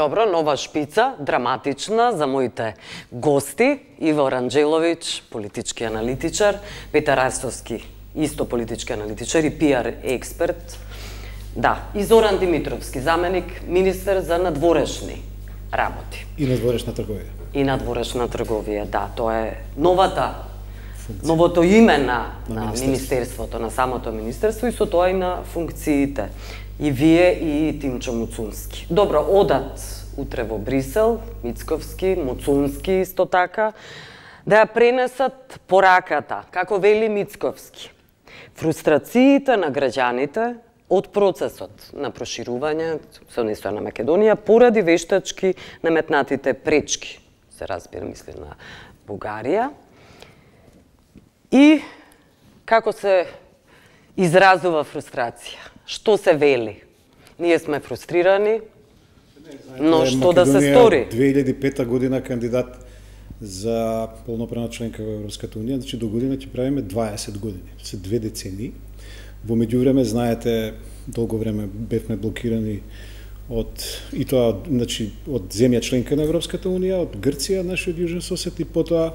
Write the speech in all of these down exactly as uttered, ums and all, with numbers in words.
Добро, нова шпица, драматична за моите гости. Иво Ранџеловиќ, политички аналитичар, Петар Арстовски, исто политички аналитичар и пиар експерт. Да, и Зоран Димитровски, заменик министер за надворешни работи. И надворешна трговија. И надворешна трговија, да, тоа е новата функција. Новото име на, на, на министерството, на самото министерство и со тоа и на функциите. И вие и Тимчо Муцунски. Добро, одат утре во Брисел, Мицковски, Муцунски исто така, да ја пренесат пораката, како вели Мицковски. Фрустрациите на граѓаните од процесот на проширување со нестоја на Македонија поради вештачки наметнатите пречки, се разбира, мисли на Бугарија. И како се изразува фрустрација? Што се вели? Ние сме фрустрирани, но што да се стори? две илјади и пета година кандидат за полноправна членка во Европската унија, значи до година ќе правиме дваесет години, се две децении. Во меѓувреме, знаете, долго време бевме блокирани од и тоа, значи, од земја членка на Европската унија, од Грција, нашиот јужен сосед, и потоа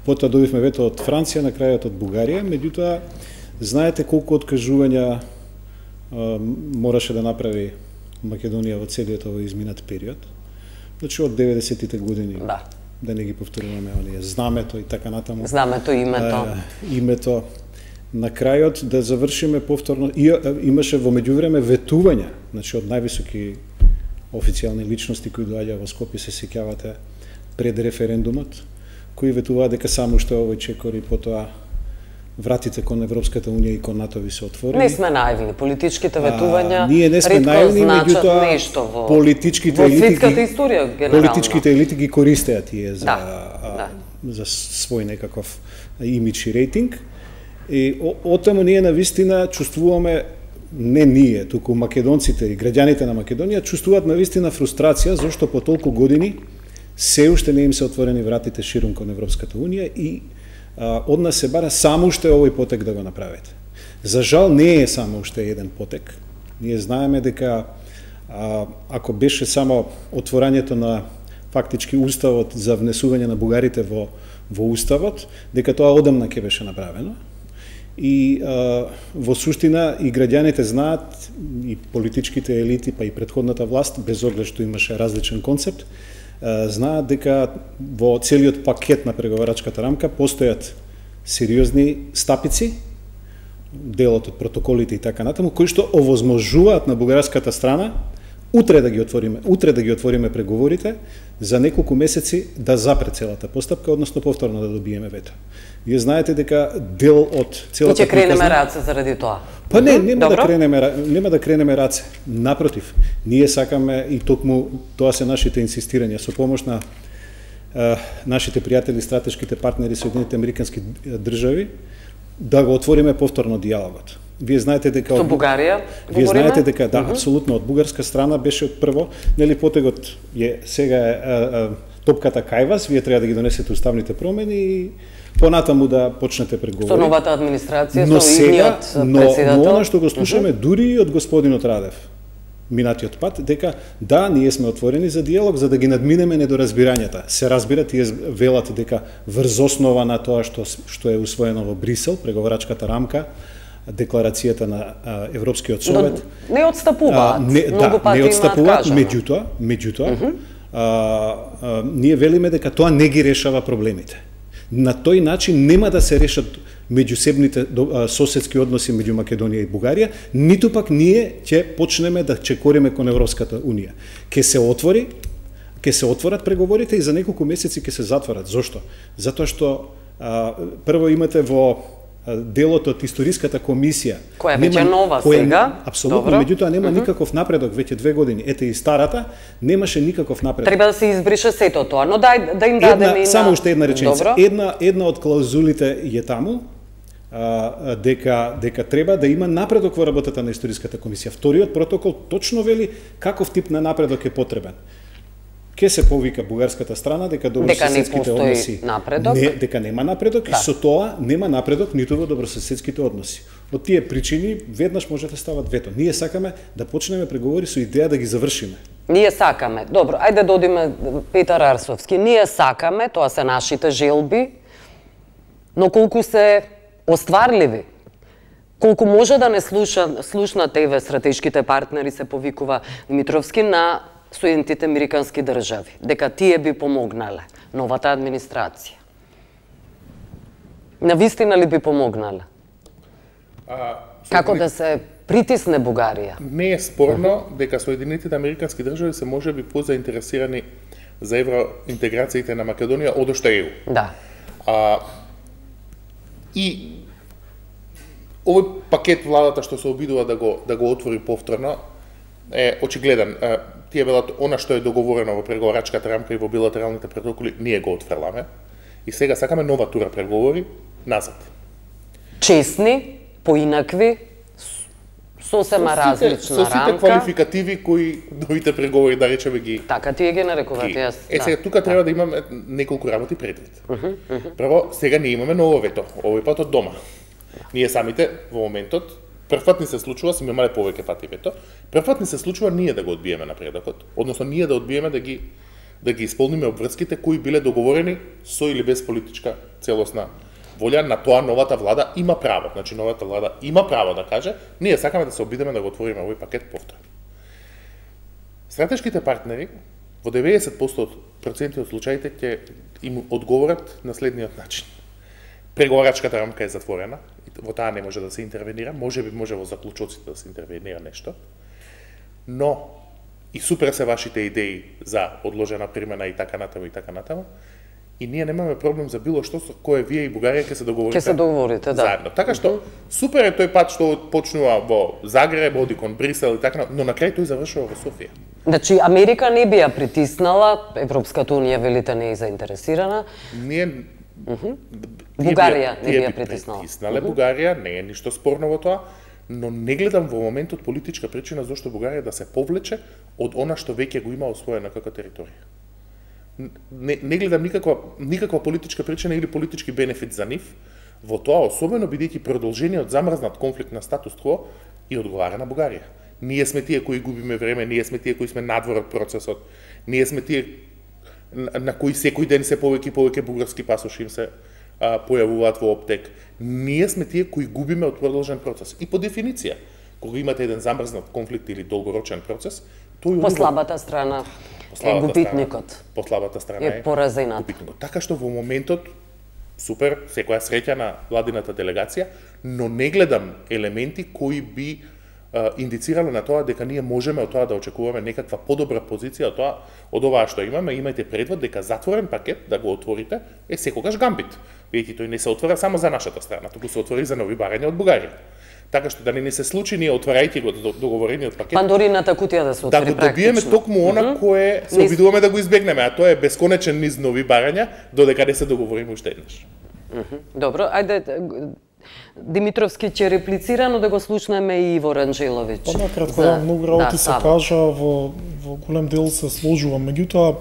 потоа добивме вето од Франција, на крајот од Бугарија. Меѓутоа, знаете колку откажувања а, мораше да направи Македонија во целиот овој изминат период. Значи од деветдесетите години, да, да не ги повторуваме оние знамето и така натаму. Знамето, името. А, името. На крајот да завршиме повторно. И, имаше во меѓувреме ветувања, значи од највисоки официјални личности кои доаѓаа во Скопје, се сеќавате, пред референдумот, кои ветуваа дека само што овој чекор и потоа вратите кон Европската унија и кон НАТО ви се отворени. Не сме наивни, политичките ветувања а, ние не сме наивни, меѓутоа во, политичките во елити светската историја генерално. Политичките елити ги користеа тие за да, а, да. за свој некаков имидж и рейтинг. И отаму ние навистина чувствуваме, не ние, туку македонците и граѓаните на Македонија чувствуваат навистина фрустрација зашто по толку години се уште не им се отворени вратите ширум кон Европската унија и а, од нас се бара само уште овој потек да го направите. За жал не е само уште еден потек. Ние знаеме дека а, ако беше само отворањето на фактички уставот за внесување на бугарите во во уставот, дека тоа одамна ќе беше направено. И а, во суштина и граѓаните знаат, и политичките елити, па и претходната власт, без оглед што имаше различен концепт, а, знаат дека во целиот пакет на преговарачката рамка постојат сериозни стапици, делот од протоколите и така натаму, кои што овозможуваат на бугарската страна утре да ги отвориме, утре да ги отвориме преговорите за неколку месеци да запре целата постапка, односно повторно да добиеме вето. Вие знаете дека дел од целата И ќе кренеме раце заради тоа. Па не, нема Добро. да кренеме, нема да кренеме раце. Напротив, ние сакаме и токму тоа се нашите инсистирања со помош на е, нашите пријатели, стратешките партнери Соединените американски држави, да го отвориме повторно диалогот. Вие знаете дека со Бугарија Вие знаете дека да, uh -huh. апсолутно од бугарска страна беше од прво, нели потегот е сега е, е, е топката кај вас, вие треба да ги донесете уставните промени и понатаму да почнете преговори. Со новата администрација, но со сега, идниот председател. Но она што го слушаме uh -huh. дури и од господинот Радев минатиот пат, дека да, ние сме отворени за диалог за да ги надминеме недоразбирањата. Се разбира, тие велат дека врз основа на тоа што што е усвоено во Брисел, преговарачката рамка, декларацијата на а, Европскиот совет. Но не отстапуваат. Не, Многу да, пати не отстапуваат, имаат меѓутоа, меѓутоа, uh -huh. а, а, ние велиме дека тоа не ги решава проблемите. На тој начин нема да се решат меѓусебните соседски односи меѓу Македонија и Бугарија, ниту пак ние ќе почнеме да чекориме кон Европската унија. Ке се отвори, ке се отворат преговорите и за неколку месеци ке се затворат. Зошто? Затоа што а, прво имате во делот од историската комисија, која веќе нова сега, апсолутно, меѓутоа нема uh -huh. никаков напредок веќе две години. Ете и старата немаше никаков напредок. Треба да се избрише сето тоа, но дај да им дадеме една, и на... само уште една реченица. Добро. Една една од клаузулите е таму, а, дека дека треба да има напредок во работата на историската комисија. Вториот протокол точно вели каков тип на напредок е потребен. Ке се повика бугарската страна дека добрососедските односи напредок. Не, дека нема напредок да. И со тоа нема напредок ниту во добрососедските односи. Од тие причини веднаш може да стават вето. Ние сакаме да почнеме преговори со идеја да ги завршиме. Ние сакаме. Добро, ајде да одиме Петар Арсовски. Ние сакаме, тоа се нашите желби, но колку се остварливи, колку може да не слуша, слушна тебе стратешките партнери, се повикува Димитровски, на Соединетите Американски држави, дека тие би помогнале, новата администрација. Навистина ли би помогнале? А, Како да се притисне Бугарија? Не е спорно uh -huh. дека Соединетите Американски држави се можеби позаинтересирани за евроинтеграциите на Македонија од ошто е. Да. А, и овој пакет владата што се обидува да го да го отвори повторно е очигледен. Тие велат она што е договорено во преговарачката рамка и во билатералните протоколи, ние го отфрламе. И сега сакаме нова тура преговори назад. Честни, поинакви, сосема различна со сите рамка. квалификативи кои новите преговори, да речеме, ги Така тие ги нарекуваат, јас. Е, сега тука треба да имаме неколку работи предвид. Прво, сега ние имаме ново вето, овој пат од дома. Ние самите во моментот, првпат ни се случува, сме имале повеќе пати вето, првпат ни се случува ние да го одбиеме напредокот, односно ние да одбиеме да ги да ги исполниме обврските кои биле договорени со или без политичка целосна волја. На тоа новата влада има право. Значи новата влада има право да каже, ние сакаме да се обидеме да го отвориме овој пакет повторно. Стратешките партнери во деветдесет проценти од случаите ќе им одговорат на следниот начин. Преговарачката рамка е затворена, во таа не може да се интервенира, може би може во заклучоците да се интервенира нешто, но и супер се вашите идеи за одложена примена и така натаму и така натаму, и ние немаме проблем за било што со кое вие и Бугарија ќе се договорите. Ќе се договорите, да. Заедно. Така што супер е тој пат што почнува во Загреб, оди кон Брисел и така, но на крај тој завршува во Софија. Значи Америка не би ја притиснала, Европската унија велите не е заинтересирана. Ние Uh -huh. Бугарија не би ја притиснала. Притиснале uh -huh. Бугарија, не е ништо спорно во тоа, но не гледам во моментот политичка причина зашто Бугарија да се повлече од она што веќе го има освоено како територија. Не, не гледам никаква никаква политичка причина или политички бенефит за нив во тоа, особено бидејќи продолжениот замрзнат конфликт на статус кво и одговара на Бугарија. Ние сме тие кои губиме време, ние сме тие кои сме надвор од процесот, ние сме тие на кои секој ден се повеќе и повеќе бугарски пасоши им се а, појавуваат во оптек. Ние сме тие кои губиме од продолжен процес. И по дефиниција, кога имате еден замрзнат конфликт или долгорочен процес, тој по слабата страна е губитникот. По слабата страна е поразената. Губитникот. Така што во моментот супер, секоја среќа на владината делегација, но не гледам елементи кои би индицирало на тоа дека ние можеме од тоа да очекуваме некаква подобра позиција од тоа, од оваа што имаме. Имајте предвид дека затворен пакет да го отворите е секогаш гамбит. Видите, тој не се отвора само за нашата страна, туку се отвори за нови барања од Бугарија. Така што да не ни се случи ние отварајќи го договорениот пакет, Пандорината кутија да се отвори практично. Да го добиеме токму она mm -hmm. кое се обидуваме да го избегнеме, а тоа е бесконечен низ нови барања додека не се договориме уште еднаш. Mm -hmm. Добро, ајде Димитровски ќе реплицира, но да го слушнеме и Иво Ранџеловиќ. Па накратко, да, многу работи да, се кажа, во, во голем дел се сложувам. Меѓутоа,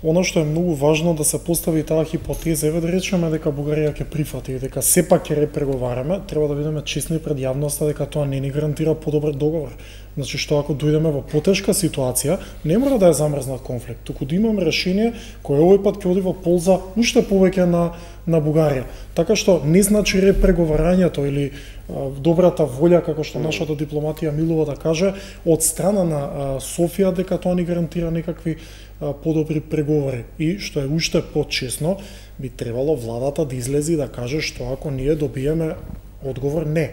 оно што е многу важно да се постави таа хипотеза, еве да речеме дека Бугарија ќе прифати, дека сепак ќе репреговараме, треба да бидеме честни пред јавноста дека тоа не ни гарантира подобар договор. Значи што ако дојдеме во потешка ситуација, не мора да е замрзнат конфликт, туку да имаме решение кое овој пат ќе оди во полза уште повеќе на на Бугарија. Така што не значи репреговарањето или а, добрата волја, како што нашата дипломатија милува да каже, од страна на а, Софија дека тоа ни гарантира некакви а, подобри преговори. И што е уште почесно, би требало владата да излези и да каже што ако ние добиеме одговор не.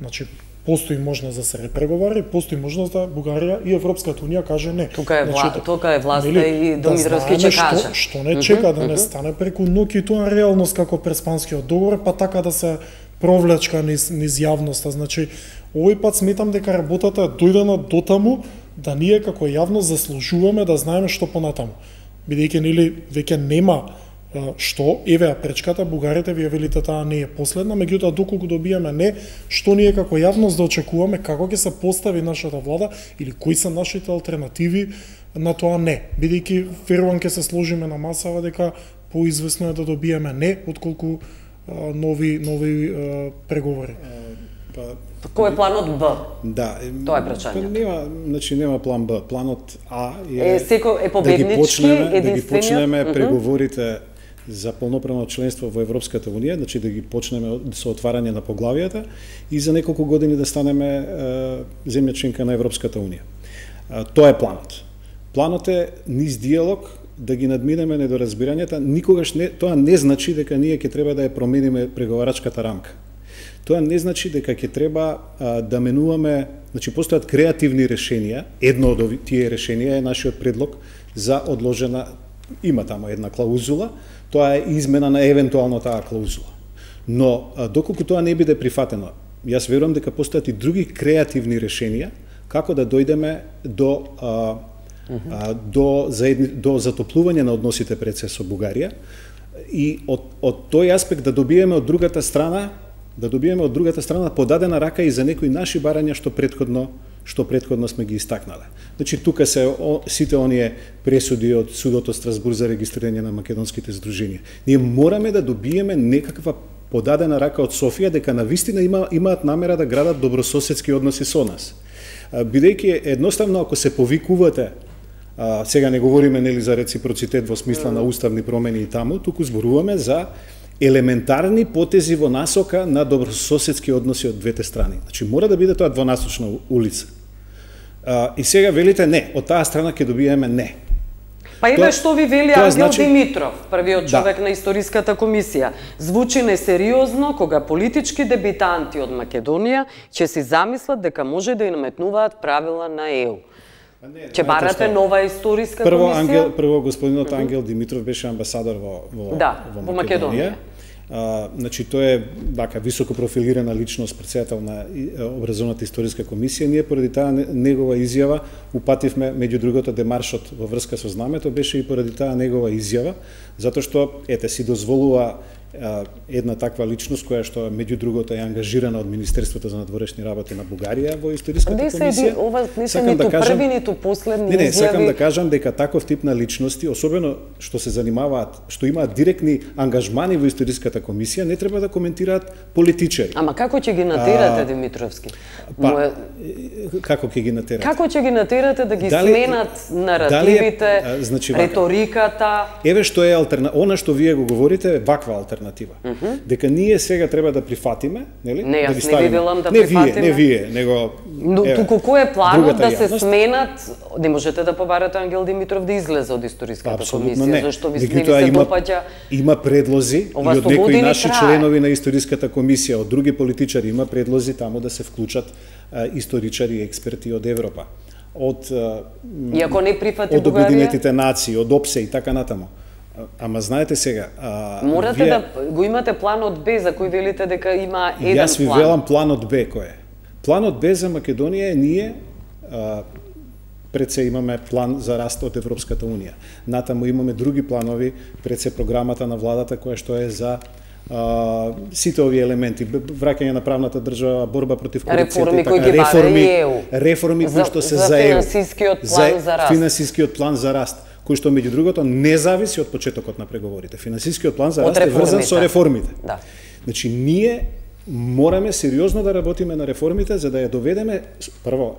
Значи постои можност да се репреговари, постои можност да Бугарија и Европската унија каже не. Тука е, вла... значи, тука е власта и Димитровски да ќе каже. Што, што не чека да не стане преку ноќ и тоа реалност како Преспанскиот договор, па така да се провлечка низ, низ јавноста. Значи, овој пат сметам дека работата е дојдена до таму да ние како јавност заслужуваме да знаеме што понатаму. Бидејќи нели веќе нема што, еве пречката, бугарите вие велите таа не е последна, меѓутоа доколку добиеме не, што ние како јавност да очекуваме, како ќе се постави нашата влада или кои се нашите алтернативи на тоа не, бидејќи верувам ќе се сложиме на масава дека поизвестно е да добиеме не отколку а, нови нови а, преговори. Па кој е планот Б? Да, тоа е прашањето. Па нема, значи нема план Б. Планот А е, е секој е победнички, да ги почнеме, единствениот. Да ги почнеме uh -huh. преговорите за полноправно членство во Европската унија, значи да ги почнеме со отварање на поглавијата и за неколку години да станеме е, земја членка на Европската унија. Е, тоа е планот. Планот е низ диалог да ги надминеме недоразбирањата. Никогаш не, тоа не значи дека ние ќе треба да ја промениме преговарачката рамка. Тоа не значи дека ќе треба а, да менуваме, значи постојат креативни решенија. Едно од ови, тие решенија е нашиот предлог за одложена, има тамо една клаузула, тоа е измена на евентуално таа клаузула. Но а, доколку тоа не биде прифатено, јас верувам дека постојат и други креативни решенија како да дојдеме до а, а, до заедни, до затоплување на односите пред се со Бугарија и од од тој аспект да добиеме од другата страна да добиеме од другата страна подадена рака и за некои наши барања што претходно што претходно сме ги истакнале. Значи тука се о, сите оние пресуди од судот од Страсбург за регистрирање на македонските здруженија. Ние мораме да добиеме некаква подадена рака од Софија дека навистина има имаат намера да градат добрососедски односи со нас. Бидејќи едноставно ако се повикувате, а, сега не говориме нели за реципроцитет во смисла на уставни промени и таму, туку зборуваме за елементарни потези во насока на добрососедски односи од двете страни. Значи мора да биде тоа двонасочна улица. А, и сега велите не, од таа страна ќе добиеме не. Па еве што ви вели Ангел значи... Димитров, првиот човек да. на Историската комисија. Звучи несериозно кога политички дебитанти од Македонија ќе си замислат дека може да им наметнуваат правила на Е У. Ќе барате нова историска прво, комисија? Ангел, прво господинот mm -hmm. Ангел Димитров беше амбасадор во, во, да, во Македонија. Во Македонија. А, значи, тој е дака, високо профилирана личност, председател на образовната историска комисија. Ние поради таа негова изјава упативме, меѓу другото, демаршот во врска со знамето, беше и поради таа негова изјава, затоа што, ете, си дозволува една таква личност која што меѓу другото е ангажирана од Министерството за надворешни работи на Бугарија во историската комисија. Не се ова не се ниту да кажам, први ниту последни не, не, изјави. сакам да кажам дека таков тип на личности, особено што се занимаваат, што имаат директни ангажмани во историската комисија, не треба да коментираат политичари. Ама како ќе ги натерате, а, Димитровски? Па, Моја... како ќе ги натерате? Како ќе ги натерате да ги дали, сменат наративите, дали е, значи, реториката? Еве што е алтерна, она што вие го говорите е ваква алтернатива. Mm -hmm. Дека ние сега треба да прифатиме, нели? Не, јас да не ставиме... ви велам да не прифатиме. Не вие, не вие, него Но еве, туку кој е планот да се јавност? сменат? Не можете да побарате Ангел Димитров да излезе од историската комисија, не. зашто ви не се има, допаѓа. Има предлози Ова и од некои наши трае. членови на историската комисија, од други политичари има предлози таму да се вклучат а, историчари и експерти од Европа. Од и ако не прифати од Обединетите нации, од ОПСЕ и така натаму. Ама знаете сега, а, морате вие... да го имате планот Б за кој велите дека има еден план. Јас ви план. велам планот Б кој е. Планот Б за Македонија е ние а, пред се имаме план за раст од Европската унија. Натаму имаме други планови, пред се програмата на владата која што е за а, сите овие елементи, враќање на правната држава, борба против корупцијата и така, реформи, реформи, реформи кои што се за, за финансискиот план за, за раст. Финансискиот план за раст, кој што меѓу другото не зависи од почетокот на преговорите. Финансискиот план за раст е врзан со реформите. Да. Значи ние мораме сериозно да работиме на реформите за да ја доведеме прво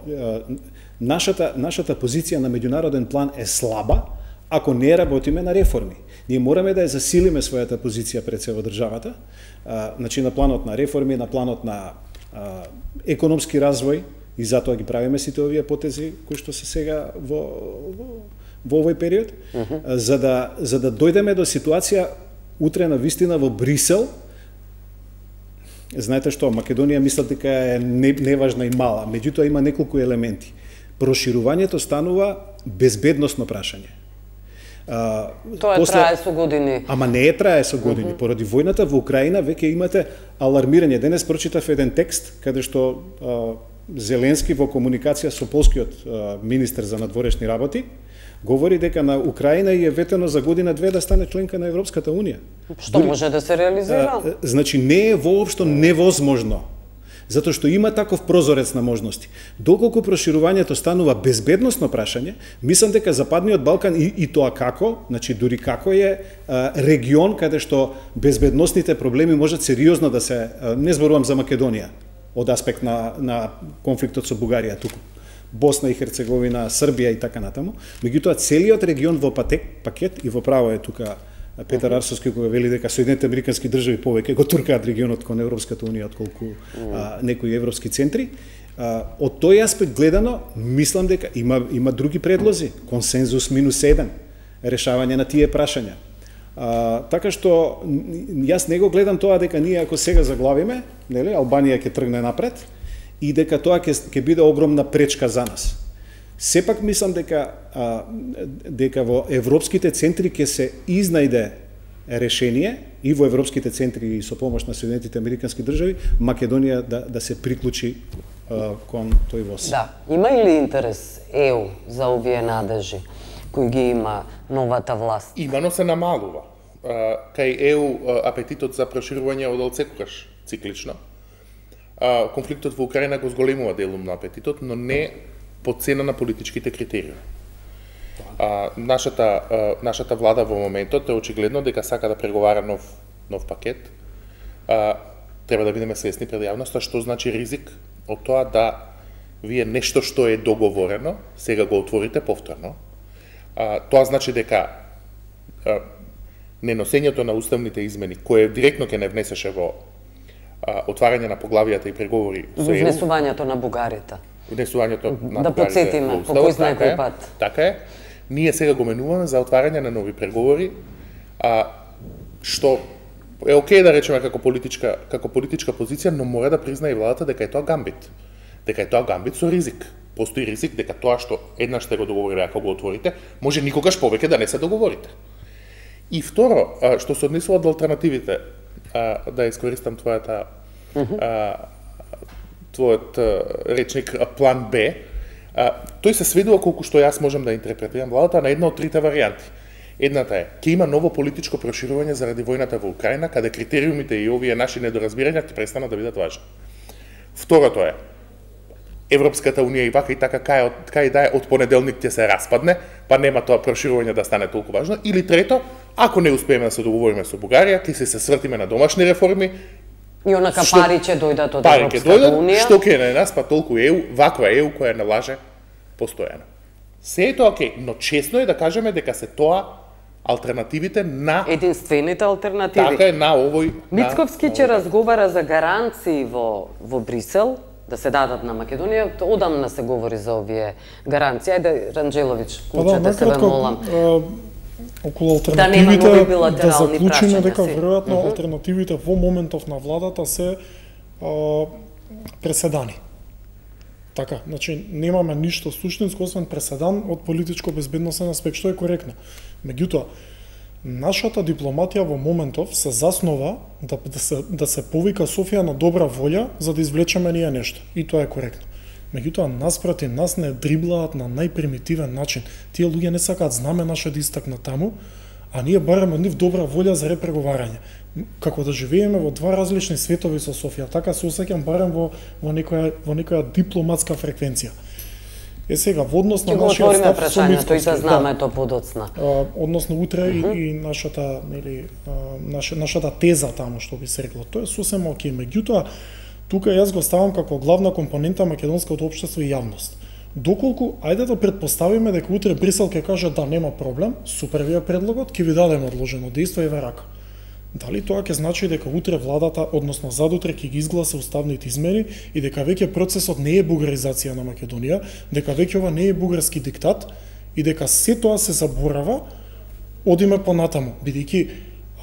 нашата нашата позиција на меѓународен план е слаба ако не работиме на реформи. Ние мораме да ја засилиме својата позиција пред се во државата, а, значи на планот на реформи, на планот на а, економски развој и затоа ги правиме сите овие потези кои што се сега во, во во овој период, uh -huh. за да за да дојдеме до ситуација утре на вистина во Брисел. Знаете што, Македонија мислат дека е неважна и мала, меѓутоа има неколку елементи. Проширувањето станува безбедносно прашање. А, Тоа после... трае со години. Ама не е трае со години. Uh -huh. Поради војната во Украина веќе имате алармирање. Денес прочитав еден текст каде што а, Зеленски во комуникација со полскиот а, министер за надворешни работи говори дека на Украина и е ветено за година две да стане членка на Европската унија. Што Дори, може да се реализира? А, значи не е воопшто невозможно. Затоа што има таков прозорец на можности. Доколку проширувањето станува безбедносно прашање, мислам дека Западниот Балкан и, и тоа како, значи дури како е а, регион каде што безбедносните проблеми можат сериозно да се, а, не зборувам за Македонија, од аспект на, на конфликтот со Бугарија, туку Босна и Херцеговина, Србија и така натаму. Меѓутоа, целиот регион во патек, пакет, и во право е тука Петар Арсовски кога вели дека Соединетите американски држави повеќе го туркаат регионот кон Европската унија отколку а, некои европски центри. А, од тој аспект гледано, мислам дека има има други предлози, консензус минус еден, решавање на тие прашања. А, така што јас не го гледам тоа дека ние ако сега заглавиме, нели, Албанија ќе тргне напред и дека тоа ќе ќе биде огромна пречка за нас. Сепак мислам дека а, дека во европските центри ќе се изнајде решение и во европските центри и со помош на Соединетите американски држави Македонија да да се приклучи а, кон тој воз. Да, има ли интерес Е У за овие надежи кои ги има новата власт? Има, но се намалува. А, кај Е У апетитот за проширување од секогаш циклично. А, конфликтот во Украина го зголемува делум на апетитот, но не по цена на политичките критериуми. А, нашата, а, нашата влада во моментот е очигледно дека сака да преговара нов, нов пакет. А, треба да бидеме свесни пред јавноста што значи ризик од тоа да вие нешто што е договорено, сега го отворите повторно. А, тоа значи дека а, неносењето на уставните измени, кое директно ќе не внесеше во а, отварање на поглавијата и преговори со Е У, внесувањето на бугарите. Внесувањето на да подсетиме по кој знае кој пат. Така е. Ние сега го менуваме за отварање на нови преговори, а што е окей да речеме како политичка како политичка позиција, но мора да признае и владата дека е тоа гамбит. Дека е тоа гамбит со ризик. Постои ризик дека тоа што еднаш сте го договориле, ако го отворите, може никогаш повеќе да не се договорите. И второ, што се однесува од алтернативите, да искористам твојата а, твојот речник план Б, а, тој се сведува колку што јас можам да интерпретирам владата на една од трите варијанти. Едната е, ќе има ново политичко проширување заради војната во Украина, каде критериумите и овие наши недоразбирања ќе престанат да бидат важни. Второто е, Европската унија и вака и така кај, кај да е од понеделник ќе се распадне, па нема тоа проширување да стане толку важно. Или трето, ако не успееме да се договориме со Бугарија, ќе се се свртиме на домашни реформи, и онака што, пари ќе дојдат од пари Европската дојдат, унија. Што ќе на нас, па толку Е У, ваква Е У која не лаже постојано. Се е тоа окей, но честно е да кажеме дека се тоа алтернативите на единствените алтернативи. Така е на овој Мицковски ќе разговара за гаранции во во Брисел да се дадат на Македонија. Одамна се говори за овие гаранции. Ајде Ранџеловиќ, клучете се ве молам. Околу алтернативите да, да заклучиме дека си. веројатно uh -huh. алтернативите во моментов на владата се а, преседани. Така, значи немаме ништо суштинско освен преседан од политичко-безбедносен аспект, што е коректно. Меѓутоа, нашата дипломатија во моментов се заснова да, да, се, да се повика Софија на добра волја за да извлечеме ние нешто. И тоа е коректно. Меѓутоа, наспроти нас не дриблаат на најпримитивен начин. Тие луѓе не сакаат знаме наше да истакнат таму, а ние бараме нив добра волја за репреговарање. Како да живееме во два различни светови со Софија, така се осеќам барем во, во, некоја, во некоја дипломатска фреквенција. Е сега, во однос на нашиот став со Мицковски, тој да знаме да, тоа подоцна. А, односно утре uh -huh. и, и нашата, нели, а, наша, нашата теза таму, што би се рекло, тоа е сосема окей. Меѓутоа, тука јас го ставам како главна компонента македонското општество и јавност. Доколку, ајде да предпоставиме дека утре Брисел ќе каже да нема проблем, супер ви е предлогот, ќе ви дадеме одложено дејство и рака. Дали тоа ќе значи дека утре владата, односно задутре ќе ги изгласа уставните измени и дека веќе процесот не е бугаризација на Македонија, дека веќе ова не е бугарски диктат и дека се тоа се заборава, одиме понатаму, бидејќи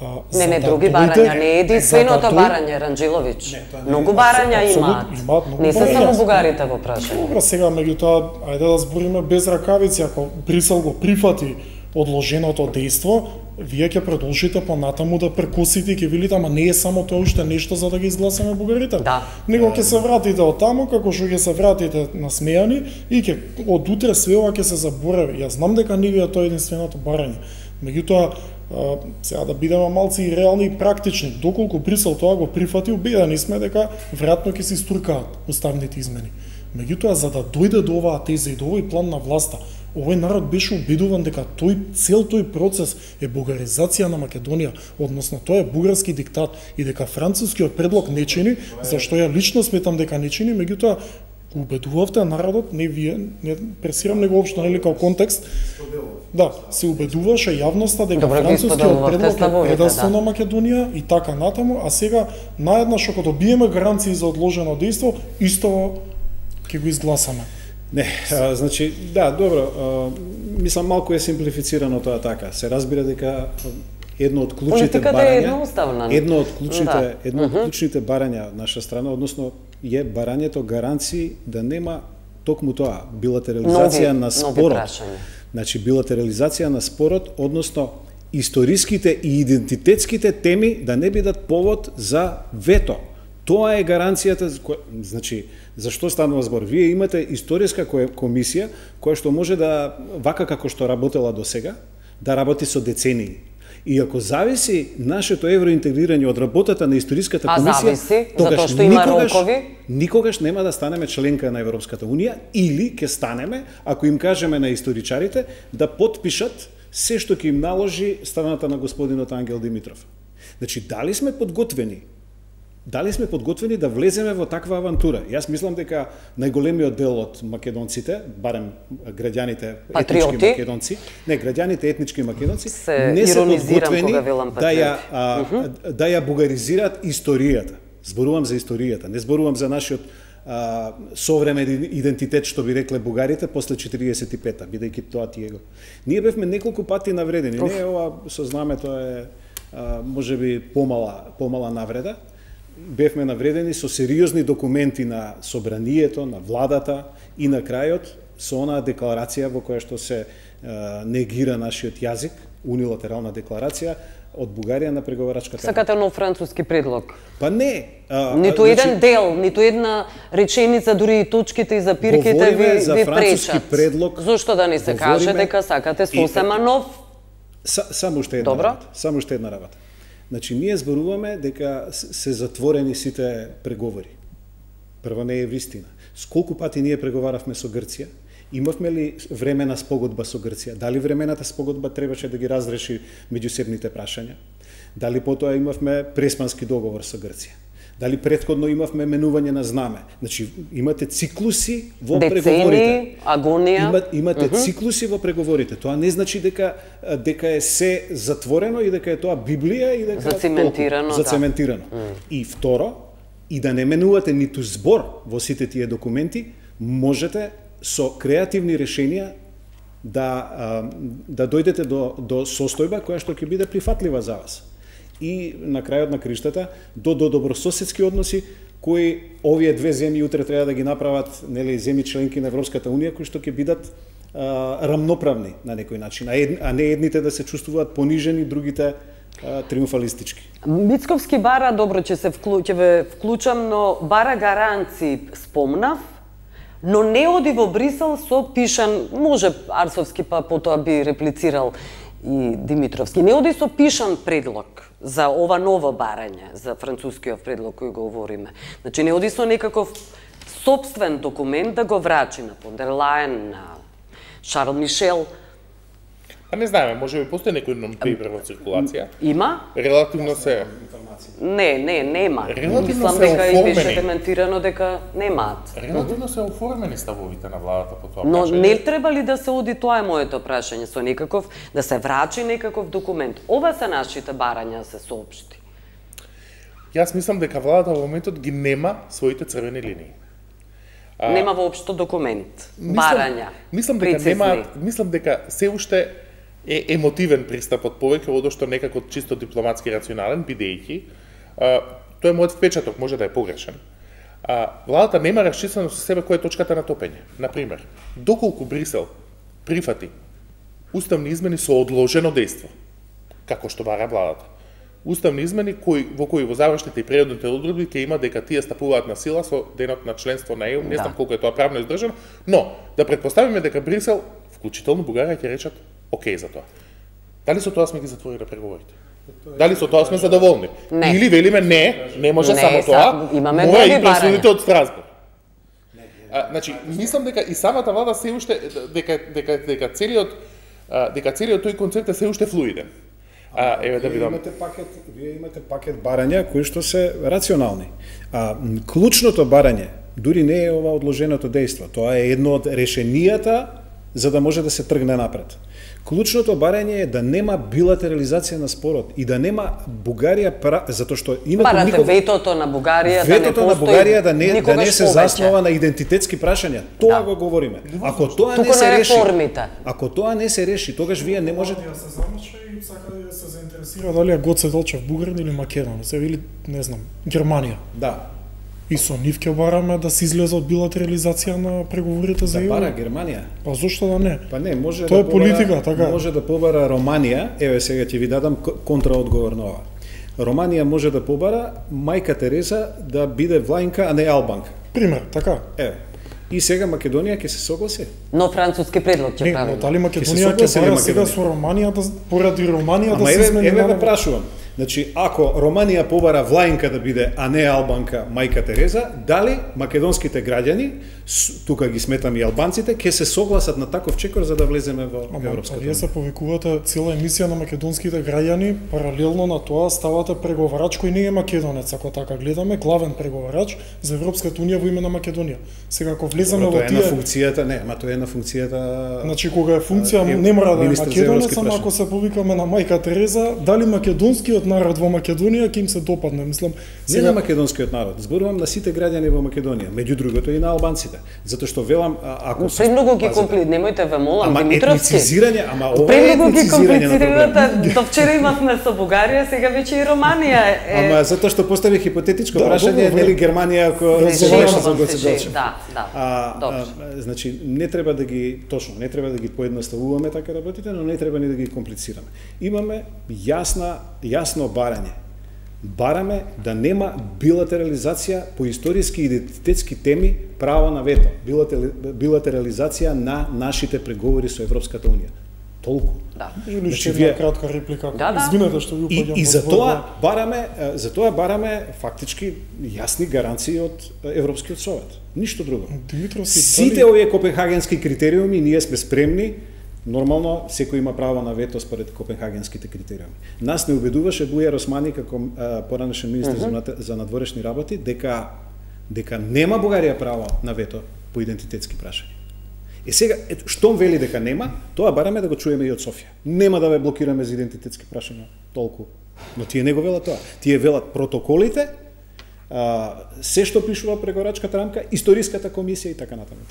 А, не, не, да други дојде, барања, не е единственото да барање, Ранџеловиќ. Не, многу барања имаат. имаат не се барања. само бугарите во прашање. Добро, сега меѓутоа, ајде да збориме без ракавици, ако Брисел го прифати одложеното дејство, вие ќе продолжите понатаму да прекосите и ќе велите, ама не е само тоа уште нешто за да ги изгласаме бугарите. Да. Него ќе се вратите од таму, како што ќе се вратите насмејани и ќе од утре све ова ќе се заборави. Јас знам дека не ви е тоа единственото барање. Меѓутоа, Uh, сега да бидеме малци и реални и практични. Доколку Брисел тоа го прифати, убедени сме дека веројатно ќе се стуркаат уставните измени. Меѓутоа, за да дојде до оваа теза и до овој план на власта, овој народ беше убедуван дека тој цел тој процес е бугаризација на Македонија, односно тоа е бугарски диктат и дека францускиот предлог не чини, зашто ја лично сметам дека не чини, меѓутоа убедувавте народот, не вие, не пресирам него општо, нели као контекст. Да, се убедуваше јавноста дека Добре, францускиот предлог е предавство да. на Македонија и така натаму, а сега наеднаш ако добиеме гаранции за одложено дејство, исто ќе го изгласаме. Не, а, значи, да, добро, а, мислам малку е симплифицирано тоа така. Се разбира дека едно од клучните барања, е едно од клучните, да. едно од клучните барања од наша страна, односно е барањето гаранции да нема токму тоа билатерализација нови, на спорот. Значи билатерализација на спорот, односно историските и идентитетските теми да не бидат повод за вето. Тоа е гаранцијата, значи, зашто станува збор? Вие имате историска комисија која што може да, вака како што работела до сега, да работи со децении. И ако зависи нашето евроинтегрирање од работата на историската комисија, а зависи, затоа што има никогаш, рокови, никогаш нема да станеме членка на Европската унија или ќе станеме, ако им кажеме на историчарите да потпишат се што ќе им наложи страната на господинот Ангел Димитров. Значи, дали сме подготвени? Дали сме подготвени да влеземе во таква авантура? Јас мислам дека најголемиот дел од македонците, барем граѓаните Патриоти, етнички македонци, не, граѓаните етнички македонци, се не се подготвени да ја, а, uh -huh. да ја бугаризираат историјата. Зборувам за историјата, не зборувам за нашиот а, современ идентитет, што би рекле бугарите после четириесет и пета, бидејќи тоа тие го. Ние бевме неколку пати навредени. Uh. Не, ова со знамето е а, можеби помала, помала навреда. Бевме навредени со сериозни документи на собранието, на владата и на крајот со онаа декларација во која што се е, негира нашиот јазик, унилатерална декларација од Бугарија на преговарачката. Сакате нов француски предлог? Па не. А, ниту а, еден значи, дел, ниту една реченица, дури и точките и запирките ви, за ви француски пречат. Предлог. Зошто да не се каже дека сакате сосема нов? Са, само уште една Добро. работа. Само уште една работа. Значи, ние зборуваме дека се затворени сите преговори. Прво не е вистина. Сколку пати ние преговаравме со Грција? Имавме ли времена спогодба со Грција? Дали времената спогодба требаше да ги разреши меѓусебните прашања? Дали потоа имавме преспански договор со Грција? Дали претходно имавме менување на знаме? Значи, имате циклуси во Децени, преговорите. агонија. Има, имате uh -huh. циклуси во преговорите. Тоа не значи дека дека е се затворено и дека е тоа Библија и дека зацементирано, толку, зацементирано. Да. Mm. И второ, и да не менувате ниту збор во сите тие документи, можете со креативни решенија да да дојдете до до состојба која што ќе биде прифатлива за вас. И на крајот на криштата до до добрососедски односи кои овие две земји утре треба да ги направат, нели, земји членки на Европската унија кои што ќе бидат а, рамноправни на некој начин, а, ед, а не едните да се чувствуваат понижени, другите а, триумфалистички. Мицковски бара, добро, ќе се вклю, ќе ве вклучам, но бара гаранции спомнав, но не оди во Брисел со пишан, може Арсовски па потоа би реплицирал и Димитровски, не оди со пишан предлог за ова ново барање, за францускиот предлог кој го говориме. Значи не оди со некаков собствен документ да го врачи на фон дер Лајен, на Шарл Мишел. А не знаеме, може би постои некој non-paper во циркулација. Има? Релативно се... Не, не, нема. Релативно Мислам се дека и беше оформени. дементирано дека немаат. Релативно се оформени ставовите на владата по тоа Но прашање. не треба ли да се оди, тоа е моето прашање, со некаков, да се врачи некаков документ? Ова се нашите барања да се соопшти. Јас мислам дека владата во моментот ги нема своите црвени линии. А, нема воопшто документ, мислам, барања, мислам дека прецизни. нема, мислам дека се уште е емотивен пристапот повеќе од што некако чисто дипломатски рационален, бидејќи тоа е мојот впечаток, може да е погрешен. А, владата нема расчистено со себе која е точката на топење. Например, доколку Брисел прифати уставни измени со одложено дејство, како што бара владата. Уставни измени кои, во кои во завршните и преодните одредби ќе има дека тие стапуваат на сила со денот на членство на Е У, не знам Да. колку е тоа правно издржано, но да предпоставиме дека Брисел, вклучително Бугарија, ќе речат окей за тоа. Дали со тоа сме ги затворили преговорите? Дали со тоа сме задоволни? Не. Или велиме не, не може Не, само са- тоа, имаме мора други и пресудите барања. од Страсбург. А, значи, мислам дека и самата влада се уште дека дека дека целиот дека целиот тој концепт е се уште флуиден. А, еве да видам. Имате пакет, вие имате пакет барања кои што се рационални. А клучното барање дури не е ова одложеното дејство. Тоа е едно од решенијата за да може да се тргне напред. Клучното барање е да нема билатерализација на спорот и да нема Бугарија затоа што името Барате никога ветото на Бугарија ветото да не на Бугарија да не да не се повече. заснова на идентитетски прашања. Тоа Да. го говориме. Ако тоа Туку не се на реши, реформите. ако тоа не се реши, тогаш вие не можете Ја се замача и сака да се заинтересира дали е Гоце Делчев бугарин или македонец, или не знам, Германија. да. И со нив ќе бараме да се излезе од билатерализација на преговорите за Да ЕУ. бара Германија. Па зошто да не? Па не, може Тоа да е политика, така. Може да побара Романија, еве сега ќе ви дадам контраодговор на ова. Романија може да побара мајка Тереза да биде влајнка, а не албанка. Пример, така. Еве. И сега Македонија ќе се согласи. Но француски предлог ќе Не, правиме. но дали Ќе Македонија се ќе согласи ли бара сега Македонија? со Романија да поради Романија Ама да се еве, измени еве ве наново? прашувам. Значи, ако Романија побара влајнка да биде, а не албанка мајка Тереза, дали македонските граѓани, тука ги сметам и албанците, ќе се согласат на таков чекор за да влеземе во Ама, Европската вие унија? се повикувате цела емисија на македонските граѓани, паралелно на тоа ставате преговарач кој не е македонец, ако така гледаме, главен преговарач за Европската унија во име на Македонија. Сега ако влеземе Добро, во тоа е на тие, функцијата, не, ама тоа е на функцијата. значи кога е функција е, не мора да е министер за македонец, европски ама прашања. ако се повикаме на мајка Тереза, дали македонскиот народ во Македонија ќе им се допадне, мислам. Не на македонскиот народ, зборувам на сите граѓани во Македонија, меѓу другото и на албанците, затоа што велам а, ако се Премногу ги пазите- компли, немојте ве молам, Ама Димитровски. етницизирање, ама ова е Премногу ги етницизирање на проблем. комплицирате. До вчера имавме со Бугарија, сега веќе и Романија е. Ама затоа што постави хипотетичко Да, прашање, добро, нели Германија ако Не, разговараше шегувам за се, Гоце шег- Делчев. Да, да. А, Добро. а, значи не треба да ги точно, не треба да ги поедноставуваме така работите, но не треба ни да ги комплицираме. Имаме јасна јасно барање. Бараме да нема билатерализација по историски и идентитетски теми, право на вето, билатерализација на нашите преговори со Европската унија. Толку. Да. Или Значи, уште вие- една кратка реплика. Да, да. Извинете што ви И, упаѓам. и во за збор, тоа да. бараме, е, за тоа бараме фактички јасни гаранции од е, Европскиот совет. Ништо друго. Димитровски, Сите дали- овие копенхагенски критериуми ние сме спремни. Нормално секој има право на вето според копенхагенските критериуми. Нас не убедуваше Бујар Османи како а, поранешен министер за, нат- за надворешни работи дека дека нема Бугарија право на вето по идентитетски прашања. И сега, ето, штом вели дека нема, тоа бараме да го чуеме и од Софија. Нема да ве блокираме за идентитетски прашања, толку. Но тие не го велат тоа. Тие велат протоколите, а, се што пишува преговорачката рамка, историската комисија и така натаму.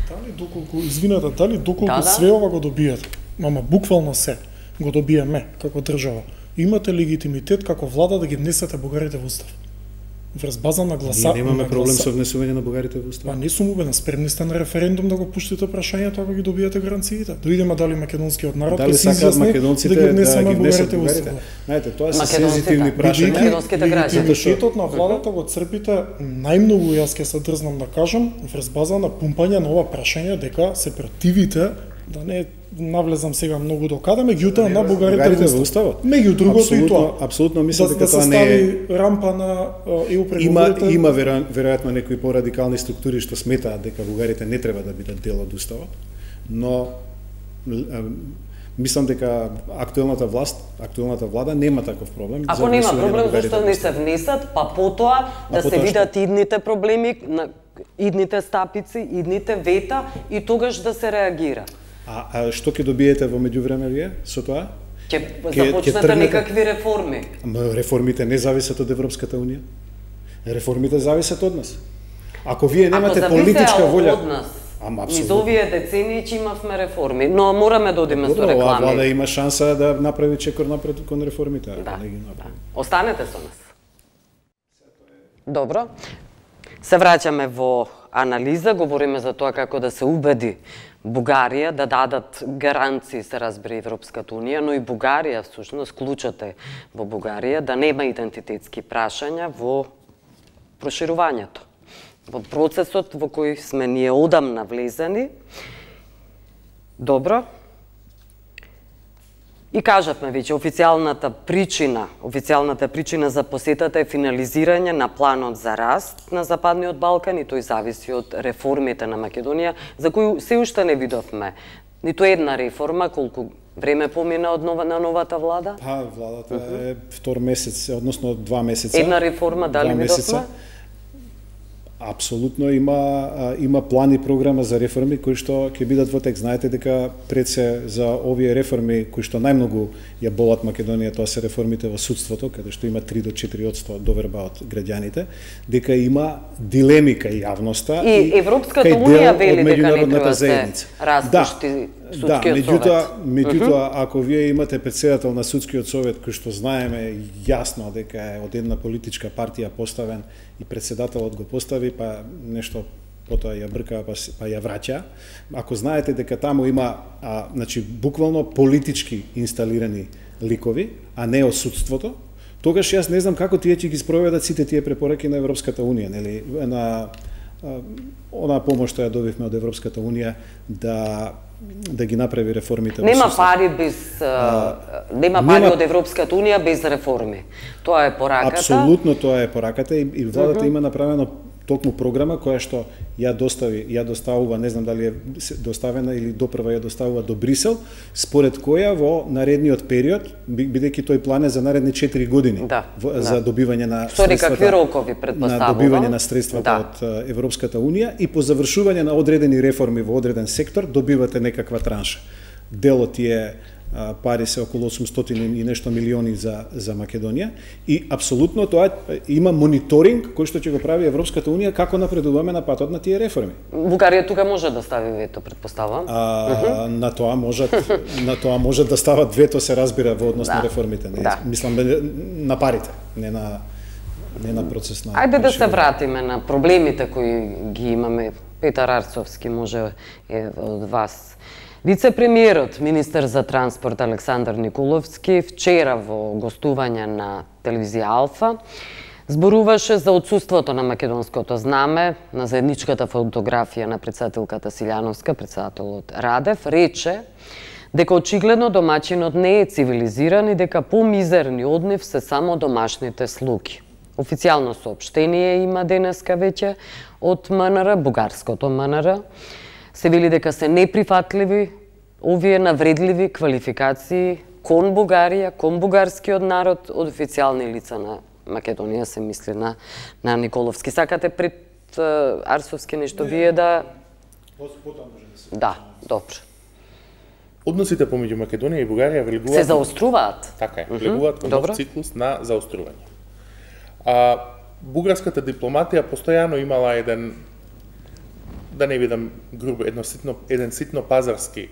Дали доколку, извинете, дали доколку Да, да. све ова го добиете, ама буквално се, го добиеме како држава, имате легитимитет како влада да ги внесете бугарите во устав? Врз база на гласа... Ние немаме на проблем гласа- со внесување на бугарите во Па устав. не сум убеден, спремни сте на референдум да го пуштите прашањето ако ги добиете гаранциите. Да видиме дали македонскиот народ Дали ќе се сакаат изјасни македонците да ги внесеме да ги внесат бугарите во бугарите? устав. Знаете, тоа се Македонците, сензитивни да. прашања. Македонските граѓани. Легитимитетот на владата го црпите најмногу, јас ќе се дрзнам да кажам, врз база на пумпање на ова прашање дека се противите, да не навлезам сега многу до каде, меѓутоа на бугарите во уставот. уставот. Меѓу другото и Апсолутно- тоа. апсолутно мислам да, дека да се тоа не е- стави рампа на е у Има преговорите. има веро- веројатно некои порадикални структури што сметаат дека бугарите не треба да бидат дел од уставот, но л- а, мислам дека актуелната власт, актуелната влада нема таков проблем. за Ако нема внесување на проблем, бугарите зашто во не уставот. се внесат, па потоа да се потоа видат идните проблеми, на идните стапици, идните вета и тогаш да се реагира. А, а што ќе добиете во меѓувреме вие со тоа? Ќе Ќе- ќе започнете тргнете? некакви реформи. Ама реформите не зависат од Европската унија. Реформите зависат од нас. Ако вие немате Ако политичка зависеа волја, од нас, ама низ апсолутно. овие децении че имавме реформи, но мораме да одиме со Добро, оваа влада реклами. има шанса да направи чекор напред кон реформите, ако Да, не ги да. направи. Останете со нас. Добро. Се враќаме во анализа, говориме за тоа како да се убеди Бугарија да дадат гаранции, се разбира Европската унија, но и Бугарија, всушност, клучот е во Бугарија да нема идентитетски прашања во проширувањето. Во процесот во кој сме ние одамна влезени. Добро. И кажавме веќе, официјалната причина, официјалната причина за посетата е финализирање на планот за раст на Западниот Балкан и тој зависи од реформите на Македонија, за кои се уште не видовме ниту една реформа, колку време помина од нова, на новата влада? Па, владата uh -huh. е втор месец, односно два месеца. Една реформа, дали видовме? Апсолутно има има план и програма за реформи кои што ќе бидат во тек. Знаете дека пред се за овие реформи кои што најмногу ја болат Македонија, тоа се реформите во судството, каде што има три до четири одсто доверба од граѓаните, дека има дилеми кај јавноста и, и Европската унија вели дека не треба да се распушти да. Судскиот да, меѓутоа, совет. меѓутоа, uh -huh. ако вие имате председател на Судскиот совет кој што знаеме јасно дека е од една политичка партија поставен и председателот го постави, па нешто потоа ја брка, па, па ја враќа. Ако знаете дека таму има, а, значи, буквално политички инсталирани ликови, а не од судството, тогаш јас не знам како тие ќе ги спроведат сите тие препораки на Европската унија, нели, на онаа помош што ја добивме од Европската унија да да ги направи реформите. Нема пари без а, нема пари нема... од Европската унија без реформи. Тоа е пораката. Апсолутно тоа е пораката и, и владата uh -huh. има направено токму програма која што ја достави, ја доставува, не знам дали е доставена или допрва ја доставува до Брисел, според која во наредниот период, бидејќи тој план е за наредни четири години, да, во, да. за добивање на Стори какви рокови предпоставува? На добивање на средствата да. од Европската унија и по завршување на одредени реформи во одреден сектор добивате некаква транша. Делот е пари се околу осумстотини и нешто милиони за за Македонија и апсолутно тоа има мониторинг кој што ќе го прави Европската унија како напредуваме на патот на тие реформи. Бугарија тука може да стави вето, предпоставам. А, uh -huh. на тоа можат на тоа може да стават вето, се разбира во однос да. на реформите, не да. мислам на парите, не на не на процес на. Ајде да се вратиме на проблемите кои ги имаме. Петар Арцовски може е од вас. Вице-премиерот, министер за транспорт Александар Николовски, вчера во гостување на телевизија Алфа, зборуваше за отсуството на македонското знаме, на заедничката фотографија на председателката Силјановска, председателот Радев, рече дека очигледно домаќинот не е цивилизиран и дека помизерни од нив се само домашните слуги. Официјално соопштение има денеска веќе од МНР, бугарското МНР, се вели дека се неприфатливи овие навредливи квалификации кон Бугарија, кон бугарскиот народ од официјални лица на Македонија, се мисли на, на Николовски. Сакате пред uh, Арцовски нешто не, вие да... Потоа може да се... Да, добро. Односите помеѓу Македонија и Бугарија влегуваат... Се заоструваат? Така е, влегуваат кон нов циклус на заострување. А, бугарската дипломатија постојано имала еден, да не видам грубо, едно ситно, еден ситно пазарски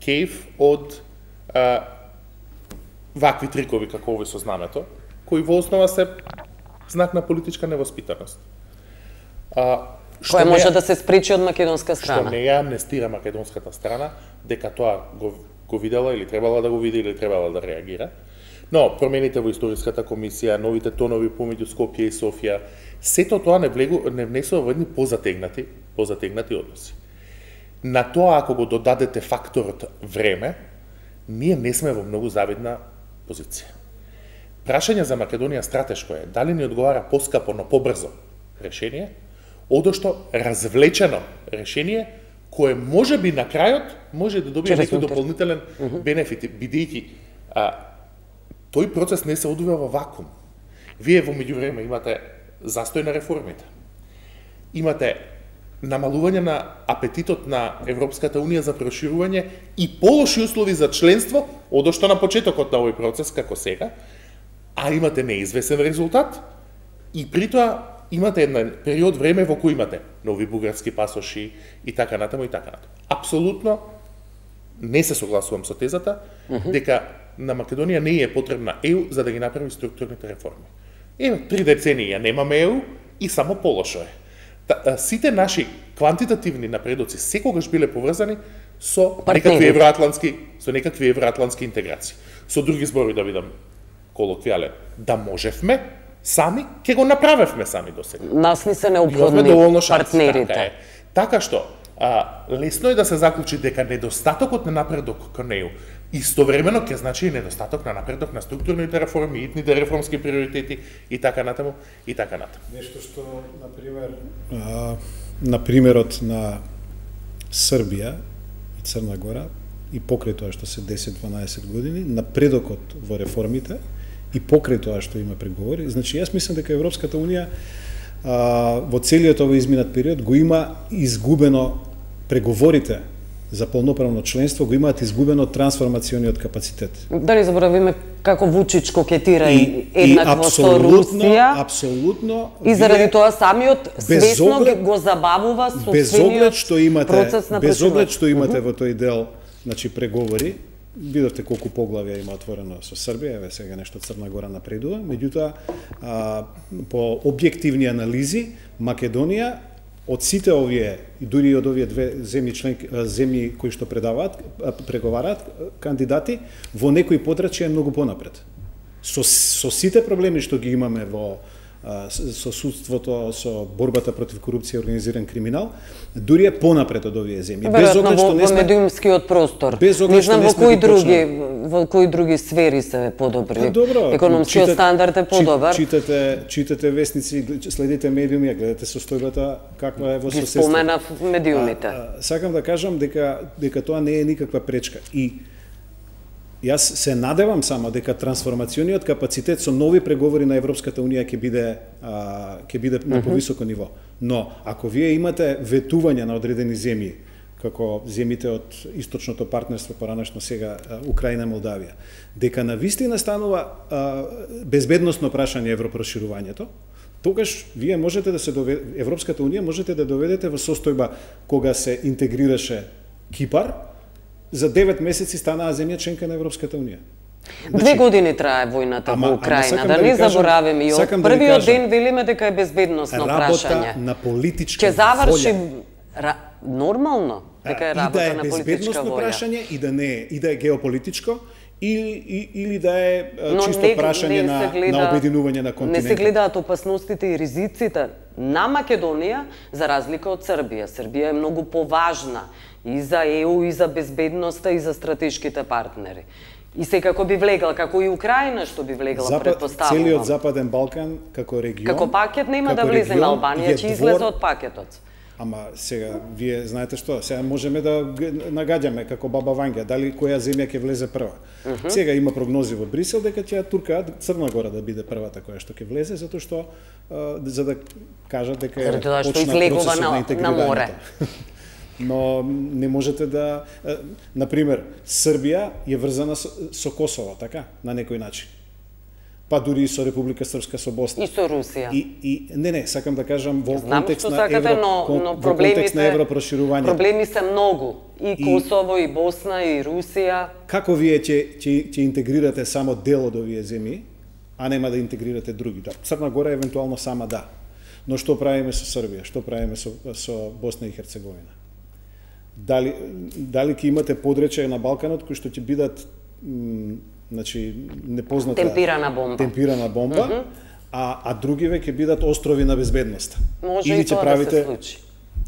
кейф од а, вакви трикови како овој со знамето, кои во основа се знак на политичка невоспитаност. А, Која може да се спречи од македонска страна? Што не ја амнестира македонската страна, дека тоа го, го видела или требала да го види или требала да реагира. Но промените во историската комисија, новите тонови помеѓу Скопје и Софија, сето тоа не, влегу, не внесува во едни позатегнати, позатегнати односи. На тоа, ако го додадете факторот време, ние не сме во многу завидна позиција. Прашање за Македонија стратешко е, дали ни одговара поскапо, но побрзо решение, одошто развлечено решение, кое може би на крајот може да добие некој дополнителен uh -huh. бенефит, бидејќи тој процес не се одвива во вакуум. Вие во меѓувреме имате застој на реформите. Имате намалување на апетитот на Европската унија за проширување и полоши услови за членство, одошто на почетокот на овој процес како сега, а имате неизвесен резултат и притоа имате еден период време во кој имате нови бугарски пасоши и така натаму и така натаму. Апсолутно не се согласувам со тезата uh -huh. дека на Македонија не е потребна Е У за да ги направи структурните реформи. Е, три децении ја немаме Е У и само полошо е. Та, сите наши квантитативни напредоци секогаш биле поврзани со некакви евроатлантски, со некакви евроатлантски интеграции. Со други зборови да бидам колоквијален, да можевме сами, ќе го направевме сами до сега. Нас ни се неопходни партнерите. Така, така што, а, лесно е да се заклучи дека недостатокот на напредок кон Е У Истовремено ќе значи и недостаток на напредок на структурните реформи, итните реформски приоритети и така натаму и така натаму. Нешто што на пример а, на примерот на Србија и Црна Гора и покрај тоа што се десет-дванаесет години, напредокот во реформите и покрај тоа што има преговори, значи јас мислам дека Европската унија а, во целиот овој изминат период го има изгубено преговорите за полноправно членство, го имаат изгубено трансформациониот капацитет. Да не заборавиме како Вучич кокетира и, еднакво со Русија. Апсолутно. И заради тоа самиот свесно оглед, го забавува собствениот што имате, процес на без оглед што имате uh -huh. во тој дел, значи преговори, видовте колку поглавја има отворено со Србија, еве сега нешто Црна Гора напредува, меѓутоа по објективни анализи Македонија од сите овие, и дури од овие две земји членки, земји кои што предаваат, преговараат кандидати, во некои подрачја е многу понапред. Со, со сите проблеми што ги имаме во со судството, со борбата против корупција и организиран криминал, дури е понапред од овие земји. Без оглед што не сме во медиумскиот простор. Без оглед не знам во кои други во кои други сфери се подобри. Економскиот стандард е подобар. Читате, читате вестници, следите медиуми, гледате состојбата каква е во соседство. Споменав медиумите. А, а, сакам да кажам дека дека тоа не е никаква пречка и јас се надевам само дека трансформациониот капацитет со нови преговори на Европската унија ќе биде а, ќе биде на повисоко ниво. Но ако вие имате ветување на одредени земји, како земјите од источното партнерство, поранешно сега Украина, Молдавија, дека на вистина станува а, безбедносно прашање европроширувањето, тогаш вие можете да се доведете, Европската унија можете да доведете во состојба кога се интегрираше Кипар, за девет месеци станаа земја членка на Европската унија. Значи, две години трае војната ама, во Украина, да, да не забораваме. И од првиот да ден велиме дека е безбедносно прашање. Работа на политичка волја. Ќе заврши ра... нормално дека е работа да е на политичка безбедносно волја. Прашање и да не е, и да е геополитичко, или, или да е Но чисто не, прашање не на, гледа, на обединување на континентот. Не се гледаат опасностите и ризиците на Македонија, за разлика од Србија. Србија е многу поважна и за Е У, и за безбедноста, и за стратешките партнери. И секако би влегла, како и Украина што би влегла, Запад, предпоставувам. Целиот Западен Балкан, како регион... Како пакет нема да влезе на Албанија, ќе излезе од пакетот. Ама сега, вие знаете што, сега можеме да нагаѓаме како баба Вања, дали која земја ќе влезе прва. Uh -huh. Сега има прогнози во Брисел дека ќе туркаат Црна Гора да биде првата која што ќе влезе, затоа што, а, за да кажат дека е почна процесот на интегрирањето. Но не можете да... Например, Србија е врзана со, со Косово, така, на некој начин. Па дури и со Република Српска, со Босна. И со Русија. И, и не, не, сакам да кажам во Знам контекст на сакате, евро, но, кон, но во контекст на европроширување. Проблеми се многу. И Косово, и, и Босна, и Русија. Како вие ќе ќе ќе интегрирате само дел од овие земји, а нема да интегрирате други? Да, Црна Гора евентуално сама да. Но што правиме со Србија? Што правиме со со Босна и Херцеговина? Дали дали ќе имате подречја на Балканот кои што ќе бидат значи непозната темпирана бомба. Темпирана бомба, mm -hmm. а а другиве ќе бидат острови на безбедност. Може или и тоа правите... да се случи.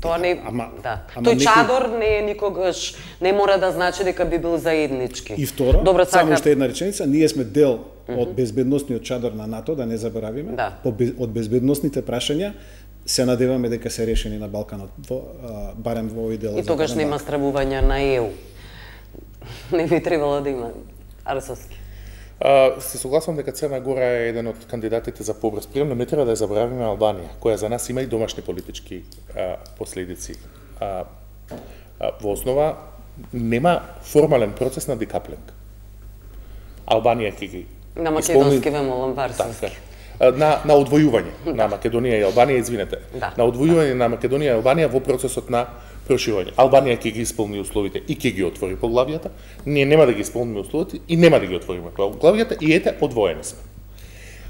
Тоа не ама, да. Ама Тој некој... чадор не е никогаш не мора да значи дека би бил заеднички. И второ, Добро, само сака... уште една реченица, ние сме дел mm -hmm. од безбедносниот чадор на НАТО, да не заборавиме. Да. По без... од безбедносните прашања се надеваме дека се решени на Балканот, во, а, барем во овој дел. И тогаш нема стравување на Е У. Не би требало да има. Арсовски. Uh, се согласувам дека Црна Гора е еден од кандидатите за побрз прием, но не треба да ја заборавиме Албанија, која за нас има и домашни политички uh, последици. Uh, uh, во основа нема формален процес на декаплинг. Албанија ќе ги на македонски вемолам варсовски. На на одвојување да. на Македонија и Албанија, извинете. Да. На одвојување да. на Македонија и Албанија во процесот на проширување. Албанија ќе ги исполни условите и ќе ги отвори поглавијата. Ние нема да ги исполниме условите и нема да ги отвориме поглавијата и ете одвоени сме.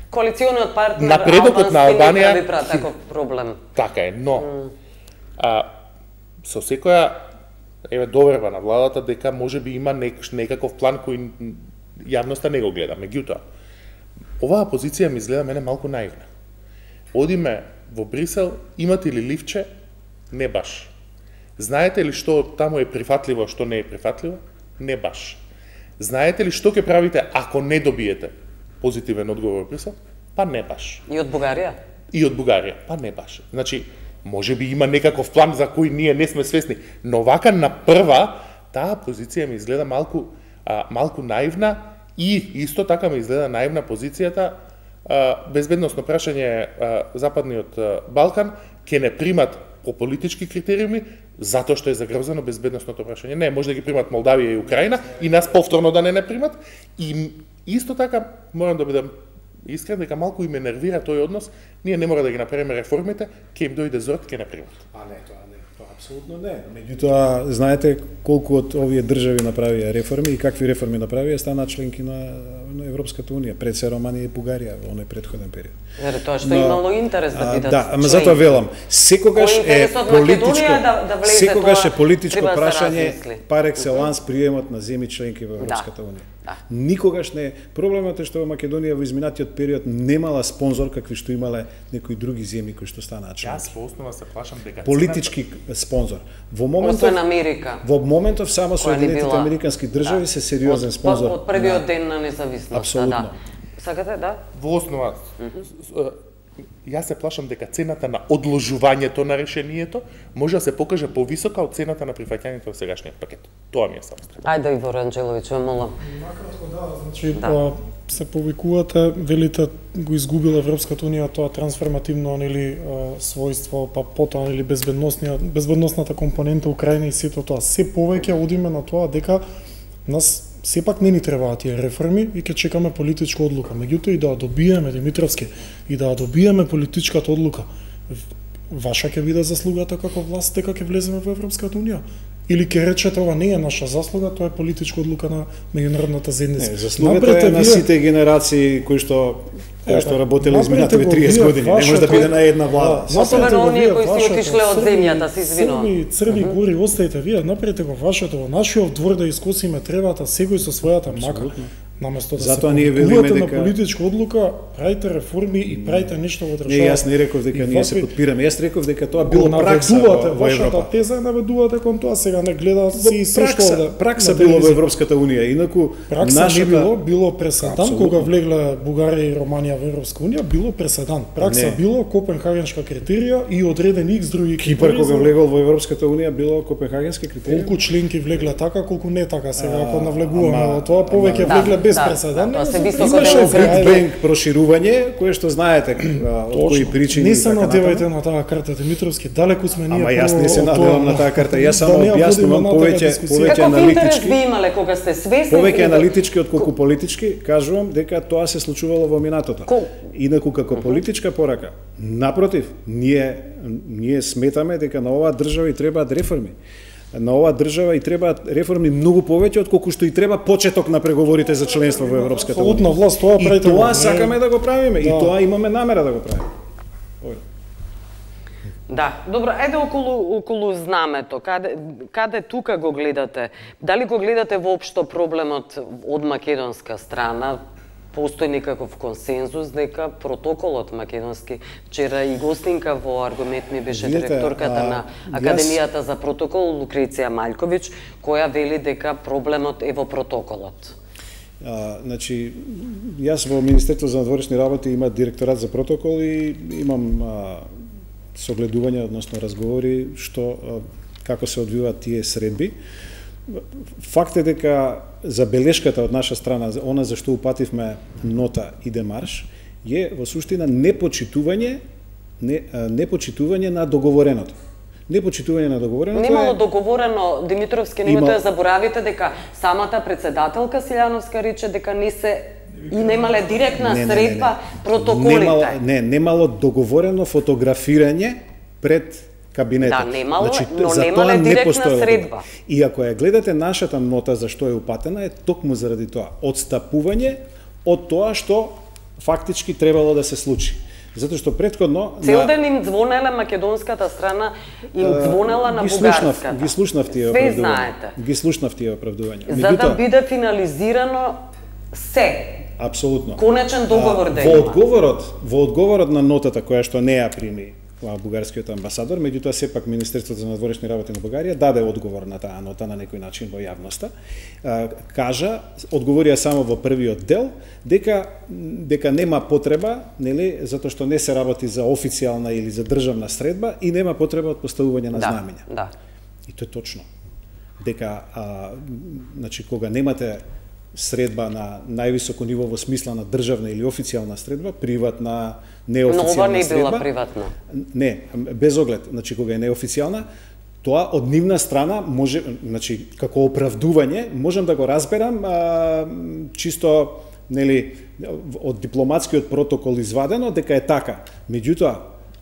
Коалициониот партнер напредокот на Албанија не прави таков проблем. Така е, но mm. а, со секоја еве доверба на владата дека можеби има нек, некаков план кој јавноста не го гледа. Меѓутоа, оваа позиција ми изгледа мене малку наивна. Одиме во Брисел, имате ли ливче? Не баш. Знаете ли што таму е прифатливо, што не е прифатливо? Не баш. Знаете ли што ќе правите ако не добиете позитивен одговор во Брисел? Па не баш. И од Бугарија? И од Бугарија, па не баш. Значи, може би има некаков план за кој ние не сме свесни, но вака на прва таа позиција ми изгледа малку а, малку наивна и исто така ми изгледа наивна позицијата а, безбедносно прашање а, Западниот а, Балкан ќе не примат по политички критериуми затоа што е загрозено безбедносното прашање. Не, може да ги примат Молдавија и Украина и нас повторно да не не примат. И исто така морам да бидам искрен дека малку им ме нервира тој однос. Ние не мора да ги направиме реформите, ќе им дојде зорт, ќе не примат. А не, тоа не, тоа апсолутно не. Меѓутоа, знаете колку од овие држави направија реформи и какви реформи направија, стана членки на, на Европската унија, пред се Романија и Бугарија во оној претходен период. Вере, тоа што но, имало интерес да бидат. Да, ама затоа велам, секогаш е политичко, да, да влезе, секогаш е политичко прашање пар екселанс приемот на земји членки во Европската унија. Да. Никогаш не. Проблемот е што во Македонија во изминатиот период немала спонзор какви што имале некои други земји кои што станаа членки. Јас во основа се плашам дека политички спонзор. Во моментов Освен Америка. Во моментов само Соединетите била... американски држави да. се сериозен спонзор. Од, од првиот да. ден на независноста, Апсолутно. да. Сакате, да? Во основа mm -hmm. Јас се плашам дека цената на одложувањето на решението може да се покаже повисока од цената на прифаќањето во сегашниот пакет. Тоа ми е само страх. Ајде, Ивор Анџеловиќ, ве молам. Накратко да, значи да. се повикувате, велите го изгубила Европската унија тоа трансформативно нели својство, па потоа нели безбедносната компонента Украина и сето тоа. Се повеќе одиме на тоа дека нас сепак не ни требаат тие реформи и ќе чекаме политичка одлука. Меѓутоа и да добиеме Димитровски и да добиеме политичката одлука, ваша ќе биде заслугата како власт дека ќе влеземе во Европската унија? Или ќе речете ова не е наша заслуга, тоа е политичка одлука на меѓународната заедница? Не, заслугата е на сите генерации кои што кои што работеле изминатите триесет години, не може да биде на една влада. Особено оние кои си отишле од земјата, се извинувам. Црни, црни гори остајте вие, направете го вашето, во нашиот двор да искосиме тревата, секој со својата мака. Наместо да Затоа се ние велиме дека на политичка одлука, правите реформи и правите нешто во државата. Не, јас не реков дека ние се подпираме. Јас реков дека тоа било пракса во, во Европа. Вашата теза е наведувате кон тоа, сега не гледа си се што да пракса било во Европската унија. Инаку пракса нашата... не било, било преседан кога влегле Бугарија и Романија во Европска унија, било преседан. Пракса не. било Копенхагенска критерија и одредени икс други Кипар кога влегол во Европската унија било Копенхагенски критерија. Колку членки влегле така, колку не така сега ако навлегуваме во тоа, повеќе влегле без преседан. Се високо имаше Big Bang проширување, кое што знаете од кои причини. Не се надевајте на таа карта, Димитровски, далеку сме ние. Ама јас не се надевам на таа карта, јас само објаснувам повеќе повеќе аналитички. Каков интерес имале кога сте свесни? Повеќе аналитички отколку политички, кажувам дека тоа се случувало во минатото. Инаку како политичка порака, напротив, ние ние сметаме дека на оваа држава и требаат реформи. На оваа држава и требаат реформи многу повеќе отколку што и треба почеток на преговорите за членство во Европската унија. Апсолутно власт тоа правите. И тоа сакаме да го правиме, да. И тоа имаме намера да го правиме. Да, добро, ајде околу околу знамето. Каде каде тука го гледате? Дали го гледате воопшто проблемот од македонска страна? Постои некаков консензус дека протоколот македонски, вчера и гостинка во Аргумент ми беше директорката а, на Академијата јас... за протокол Лукреција Маљковиќ, која вели дека проблемот е во протоколот. А, значи, јас во Министерството за надворешни работи има директорат за протокол и имам а, согледување, односно разговори што а, како се одвиваат тие средби. Факт е дека забелешката од наша страна, она за што упативме нота и демарш, е во суштина непочитување не, непочитување на договореното. Непочитување на договореното. Немало договорено, Димитровски, немате да заборавите дека самата председателка Силјановска рече дека не се и немале директна не, средба не, не, не. протоколите. Немало, не, немало договорено фотографирање пред кабинетот. Да, немало, значи, но немале директна средба. И ако ја гледате нашата нота за што е упатена, е токму заради тоа. Одстапување од тоа што фактички требало да се случи. Затоа што претходно цел ден им звонеле македонската страна, им звонела на бугарската. Ги слушнав тие оправдувања. Све знаете. Ги слушнав тие оправдувања. За да биде финализирано се. Апсолутно. Конечен договор а, да во има. Одговорот, во одговорот на нотата која што не ја прими бугарскиот амбасадор, меѓутоа сепак Министерството за надворешни работи на Бугарија даде одговор на таа нота на некој начин во јавноста. Кажа, одговорија само во првиот дел дека дека нема потреба, нели, затоа што не се работи за официјална или за државна средба и нема потреба од поставување на да, знамења. Да. И тоа е точно. Дека а, значи кога немате средба на највисоко ниво во смисла на државна или официјална средба, приватна, неофицијална средба. Но ова не била приватна. Не, без оглед, значи кога е неофицијална, тоа од нивна страна може, значи како оправдување, можам да го разберам а, чисто, нели, од дипломатскиот протокол извадено дека е така. Меѓутоа,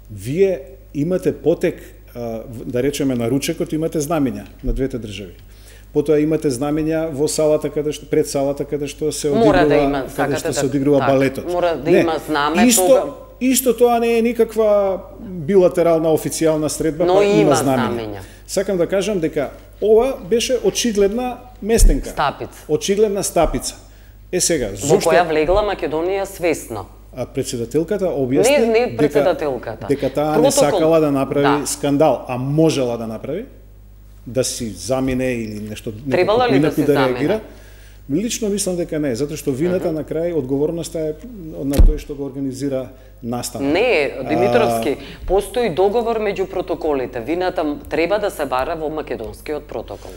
вие имате потек, а, да речеме на ручекот, имате знамења на двете држави. Потоа имате знамења во салата каде што пред салата каде што се одигрува, да има, каде што се одигрува так, балетот. Мора да не, има знаме исто, тога. Исто тоа не е никаква билатерална официјална средба, но па има, има знамења. знамења. Сакам да кажам дека ова беше очигледна местенка. Стапица. Очигледна стапица. Е сега, зошто во која влегла Македонија свесно? А председателката објасни не, не председателката. дека, дека таа Протокол... не сакала да направи да. скандал, а можела да направи, да си замине или нешто, требала ли да си да замине? Лично мислам дека не, затоа што вината uh -huh. на крај, одговорноста е на тој што го организира настанот. Не, Димитровски, а... постои договор меѓу протоколите. Вината треба да се бара во македонскиот протокол.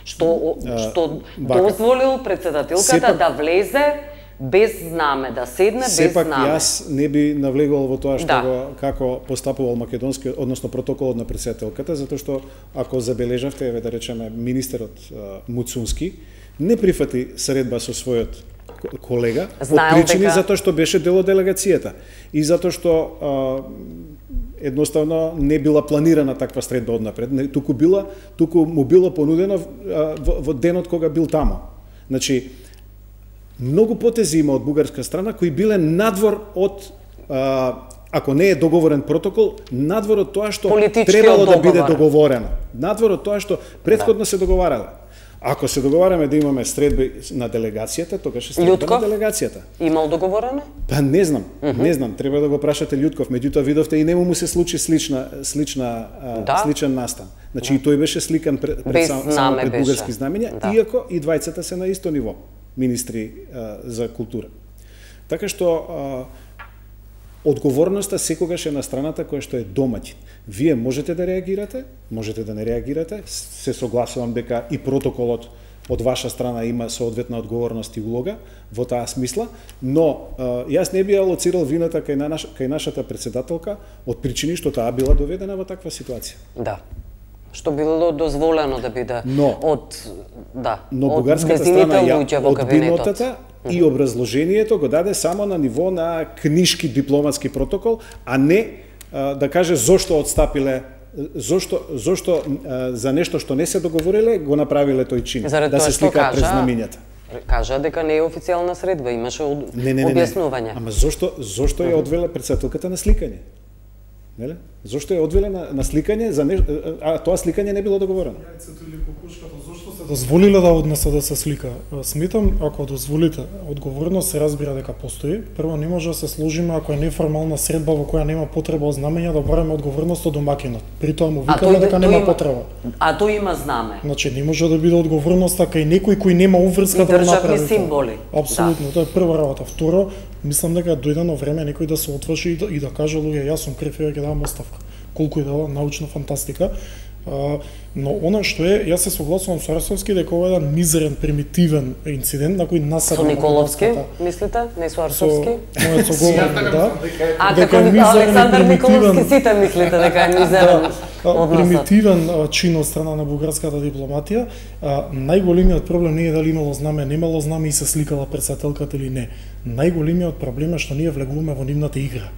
Што а, што бака. дозволил председателката сепак... да влезе без знаме, да седне без Сепак знаме. јас не би навлегувал во тоа што да. го, како постапувал македонски, односно протоколот на председателката, затоа што ако забележавте, еве да речеме министерот Муцунски не прифати средба со својот колега, Знаел од причини дека... затоа што беше дел од делегацијата и затоа што а, едноставно не била планирана таква средба однапред, не, туку била, туку му било понудено а, во, во денот кога бил тамо. Значи, многу потези има од бугарска страна кои биле надвор од, а, ако не е договорен протокол, надвор од тоа што требало да биде договорено. Надвор од тоа што претходно да. се договарале. Ако се договараме да имаме средби на делегацијата, тогаш е средба Љутков? на делегацијата. Имал договорено? Па не знам, uh -huh. не знам, треба да го прашате Љутков, меѓутоа видовте и нему му се случи слична слична да? сличен настан. Значи да. и тој беше сликан пред, пред сам, само пред бугарски знамења, да. иако и двајцата се на исто ниво министри а, за култура. Така што а, одговорноста секогаш е на страната која што е домаќин. Вие можете да реагирате, можете да не реагирате, се согласувам дека и протоколот од ваша страна има соодветна одговорност и улога во таа смисла, но а, јас не би алоцирал вината кај, на наш, кај нашата председателка од причини што таа била доведена во таква ситуација. Да. Што било дозволено да биде но, од да, но од бугарската страна ја одби нотата и образложението го даде само на ниво на книшки дипломатски протокол, а не а, да каже зошто одстапиле, зошто зошто а, за нешто што не се договориле го направиле тој чин, Заред да се сликаат пред знамињата. Кажа дека не е официјална средба, имаше од... не, не, не, објаснување. Ама зошто зошто ја одвеле председателката на сликање? Неле? Зошто е одвеле на, на сликање, за не, а тоа сликање не било договорено? Јајцето или кокошката, зошто се дозволиле да однесе да се слика? Сметам, ако дозволите, одговорност се разбира дека постои. Прво, не може да се сложиме ако е неформална средба во која нема потреба од знамења да бараме одговорност од домакинот. При тоа му викаме дека нема има, потреба. А тој има знаме. Значи, не може да биде одговорноста кај некој кој нема уврска да направи. Државни символи. Апсолутно, да. Тоа е прва работа. Второ, мислам дека дојдено време некој да се отврши и да, и да каже луѓе, јас сум крив и ќе давам оставка. Колку и дава научна фантастика. А, но она што е, јас се согласувам со Арсовски дека ова е еден мизерен, примитивен инцидент на кој насада. Со Николовски, мислите? Не со Арсовски? Со мојот соговорник, да. А како Александар Николовски сите мислите дека е мизерен? Да, примитивен а, чин од страна на бугарската дипломатија. А, најголемиот проблем не е дали имало знаме, немало знаме и се сликала председателката или не. Најголемиот проблем е што ние влегуваме во нивната игра.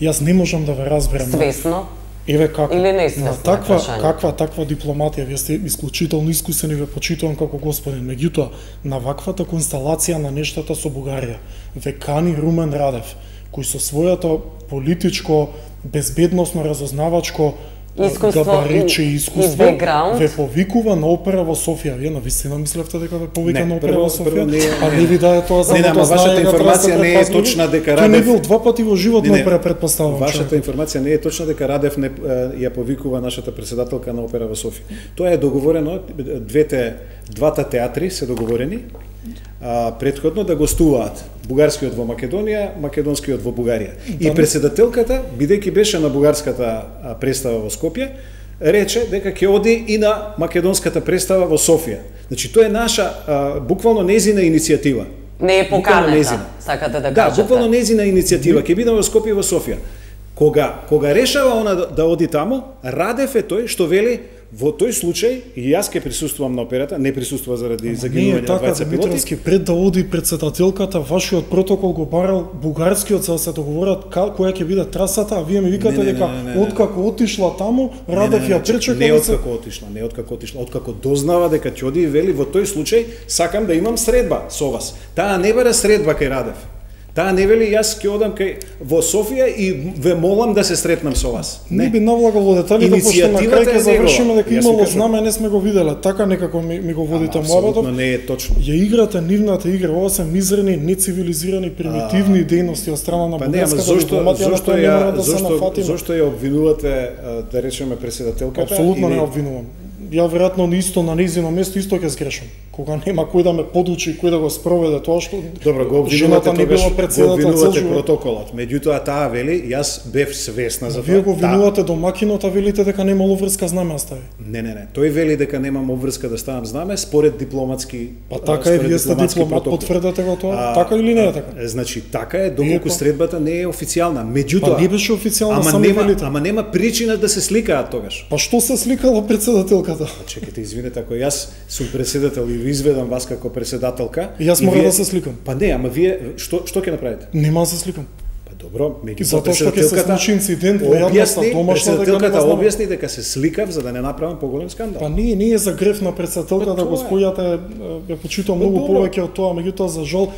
Јас не можам да ве разберам. Свесно? Еве како. Или не свесно? Таква, каква таква дипломатија, вие сте исклучително искусен и ве почитувам како господин. Меѓутоа, на ваквата констелација на нештата со Бугарија, ве кани Румен Радев, кој со својато политичко, безбедносно, разузнавачко искуство, габарит, и, искуство, и бекграунд. Ве повикува на опера во Софија. Вие навистина мислевте дека ве повика Не, на опера прво- во Софија? прво не е- А не ви даде тоа за Не, не, ама вашата информација не е точна дека Тој не Радев- бил два пати во живот Не, на не, опера, претпоставувам. Вашата човек. информација не е точна дека Радев не е, ја повикува нашата претседателка на опера во Софија. Тоа е договорено, двете двата театри се договорени а, предходно да гостуваат бугарскиот во Македонија, македонскиот во Бугарија. И претседателката, бидејќи беше на бугарската а, представа во Скопје, рече дека ќе оди и на македонската представа во Софија. Значи тоа е наша а, буквално незина иницијатива. Не е Буквално поканета, незина. сакате да Да, кажете. буквално незина иницијатива, ќе бидам во Скопје и во Софија. Кога кога решава она да, да оди таму, Радев е тој што вели во тој случај и јас ќе присуствувам на операта, не присуствува заради Не е загинување на така, двајца пилоти. Димитровски, пред да оди председателката, вашиот протокол го барал бугарскиот за да се договорат ка- која ќе биде трасата, а вие ми викате Не, не, дека не, не, не, не. откако отишла таму, Радев Не, не, ја не, пречека не да се... откако отишла, не откако отишла, откако дознава дека ќе оди и вели во тој случај сакам да имам средба со вас. Таа не бара средба кај Радев. Таа не вели јас ќе одам кај во Софија и ве молам да се сретнам со вас. Не би навлагал во деталите, пошто на Иницијативата крај ќе е завршиме негова. дека Јас ви имало кажам. знаме, не сме го виделе. Така некако ми, ми го водите Апсолутно муабетот. не е точно. Ја играте нивната игра, ова се мизерни, нецивилизирани, примитивни дејности од страна на Па не, ама бугарската зошто дипломатија, на зошто која не ја мора да се зошто нафатиме. зошто ја обвинувате а, да речеме претседателката? Апсолутно или- не обвинувам. Ја веројатно исто на нејзино место исто ќе сгрешам. Кога нема кој да ме подучи, кој да го спроведе тоа што Добро, го обвинувате жената не тогаш, била го председател цел обвинувате живот. протоколот. Меѓутоа таа вели, јас бев свесна за тоа. Вие го Таа- обвинувате домакинот, а велите дека немало врска знаме остави. Не, не, не. Тој вели дека немам обврска да ставам знаме според дипломатски. Па така е, според вие сте дипломатски дипломат, протокол. потврдете го тоа? А, Така или не е така? а, Значи така е, доколку Иако- средбата не е официјална. Меѓутоа, Па не беше официјална, ама сами нема, велите. ама нема причина да се сликаат тогаш. Па што се сликала председателката? Чекайте, извинете, ако јас сум председател и ви изведам вас како председателка, И јас и мора вие- да се сликам. Па не, ама вие што што ќе направите? Нема да се сликам. Па добро, меѓутоа Затоа што ќе се случи инцидент во јавноста, објасни, домашна, дека председателката нема знаме. објасни дека се сликав за да не направам поголем скандал. Па не, не е за греф на председателка Па да тоа го е. спојате, ја почитувам многу добро. повеќе од тоа, меѓутоа за жал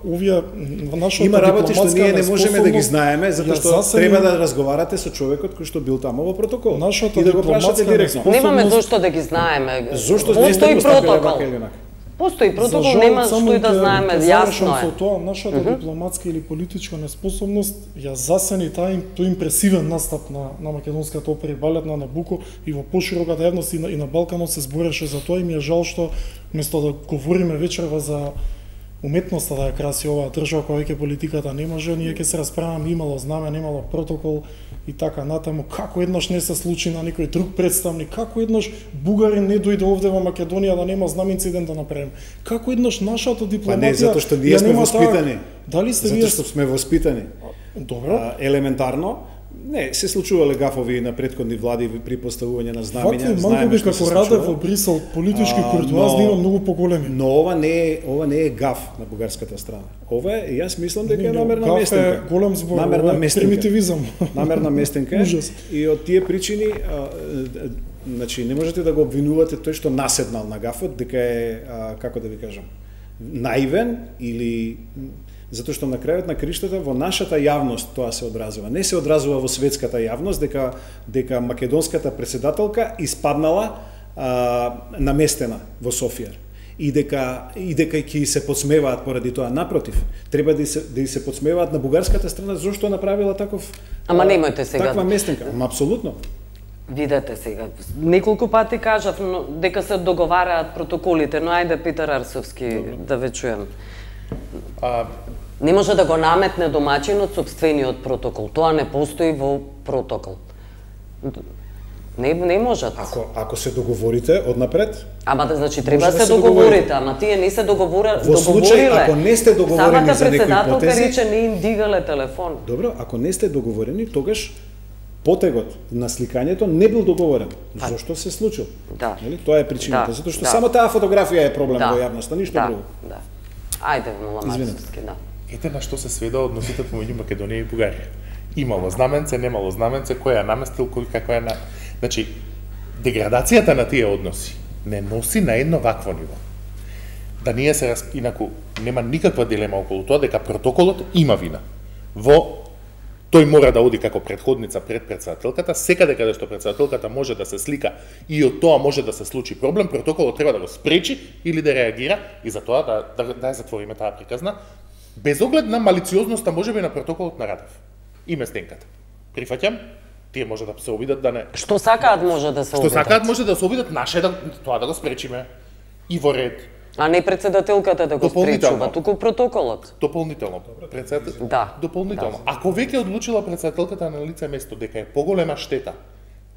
овие м, нашата Има работи што ние не можеме да ги неспособност знаеме, затоа ја што засени- треба да разговарате со човекот кој што бил таму во протокол. Нашата И да го прашате дипломатска директно. неспособност- Немаме зошто да ги знаеме. Зошто не Постои сте поставиле протокол. вака или онака? Постои За протокол, жал, нема само што и да ќе- знаеме, ќе јасно завршам е. со тоа, нашата дипломатска или политичка неспособност ја засени таа им- тој импресивен настап на, на македонската опера и балет на Набуко и во пошироката јавност и на, и на Балканот се збореше за тоа и ми е жал што место да говориме вечерва за уметноста да ја краси оваа држава која веќе политиката не може, ние ќе се расправаме имало знаме, немало протокол и така натаму. Како еднаш не се случи на некој друг представник, како еднаш бугарин не дојде овде во Македонија да нема знам инцидент да направиме. Како еднаш нашата Па дипломатија не, затоа што ние ја сме нема воспитани. таа- Дали сте вие Затоа што сме воспитани. Добро? А, елементарно, не, се случувале гафови на претходни влади при поставување на знамења, Вакви знаеме мангови што се како Радев случува. во Брисел, политички А, куртуазни но- има многу поголеми. Но ова не е ова не е гаф на бугарската страна. Ова е, јас мислам дека е Не, намерна гаф е местенка. голем збор, намерна ова е местенка. примитивизам. Намерна местенка. Ужас. И од тие причини, а, а, значи не можете да го обвинувате тој што наседнал на гафот дека е а, како да ви кажам, наивен или затоа што на крајот на криштата во нашата јавност тоа се одразува. Не се одразува во светската јавност дека дека македонската претседателка испаднала а, наместена во Софија и дека и дека ќе се подсмеваат поради тоа. Напротив, треба да се да се подсмеваат на бугарската страна зошто направила таков Ама а, немојте сега. таква местенка. Ама апсолутно. Видете сега, неколку пати кажав но, дека се договараат протоколите, но ајде Питер Арсовски да ве чуем. А, Не може да го наметне домаќинот сопствениот протокол. Тоа не постои во протокол. Не, не можат. Ако ако се договорите однапред, Ама да, значи треба Може да да се се договорите, договорите. ама тие не се договора, Во случај, договориле. ако не сте договорени Самата за некои председателка потези- рече не им дигале телефон. добро, ако не сте договорени, тогаш потегот на сликањето не бил договорен. Зошто се случил? Да. Нели? Тоа е причината, Да, затоа што да. само таа фотографија е проблем Да. во јавноста, ништо да, друго. Да. Ајде, Мула Извинете. Марсовски, да. ете на што се сведа односите помеѓу Македонија и Бугарија. Имало знаменце, немало знаменце, кој ја наместил, кој како е на... Значи, деградацијата на тие односи не носи на едно вакво ниво. Да ние се раз... инаку нема никаква дилема околу тоа дека протоколот има вина во тој мора да оди како претходница пред претседателката, секаде каде што претседателката може да се слика и од тоа може да се случи проблем, протоколот треба да го спречи или да реагира и за тоа да, да, да ја затвориме таа приказна, без оглед на малициозноста можеби на протоколот на Радев и местенката. Прифаќам, тие може да се обидат да не... Што сакаат може да се обидат. Што сакаат може да се обидат, наше да тоа да го спречиме и во ред. А не председателката да го спречува, туку протоколот. Дополнително. Председател... Да. Дополнително. Да. Ако веќе одлучила председателката на лице место дека е поголема штета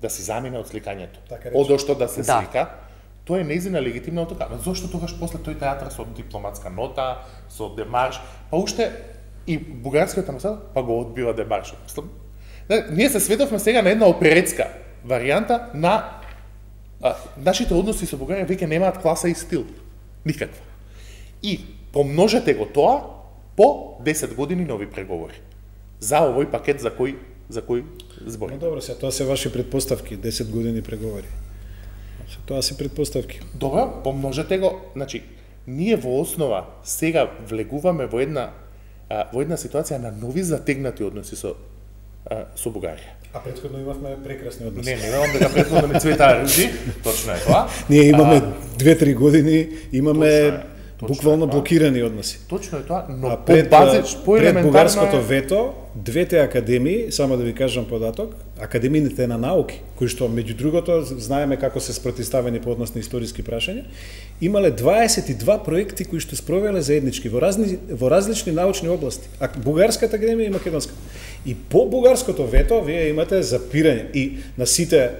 да си замине од сликањето, така од што да се да. слика, тоа е нејзина легитимна одлука. Зошто тогаш после тој театар со дипломатска нота, со демарш, па уште и бугарскиот амбасадор па го одбива демаршот. Да, ние се сведовме сега на една оперетска варијанта на а, нашите односи со Бугарија веќе немаат класа и стил. Никаква. И помножете го тоа по десет години нови преговори. За овој пакет за кој за кој збори. Ну добро, се тоа се ваши предпоставки, десет години преговори. Се тоа се предпоставки. Добро, помножете го, значи ние во основа сега влегуваме во една а, во една ситуација на нови затегнати односи со а, со Бугарија. А претходно имавме прекрасни односи. Не, не верувам дека претходно не цветаа ружи, точно е тоа. Ние имаме две-три години, имаме буквално блокирани односи. Точно е тоа, но а пред, по базич, по пред бугарското вето, двете академии, само да ви кажам податок, академиите на науки, кои што меѓу другото знаеме како се спротивставени по однос на историски прашања, имале дваесет и два проекти кои што спровеле заеднички во разни во различни научни области. А бугарската академија и македонската. И по бугарското вето вие имате запирање и на сите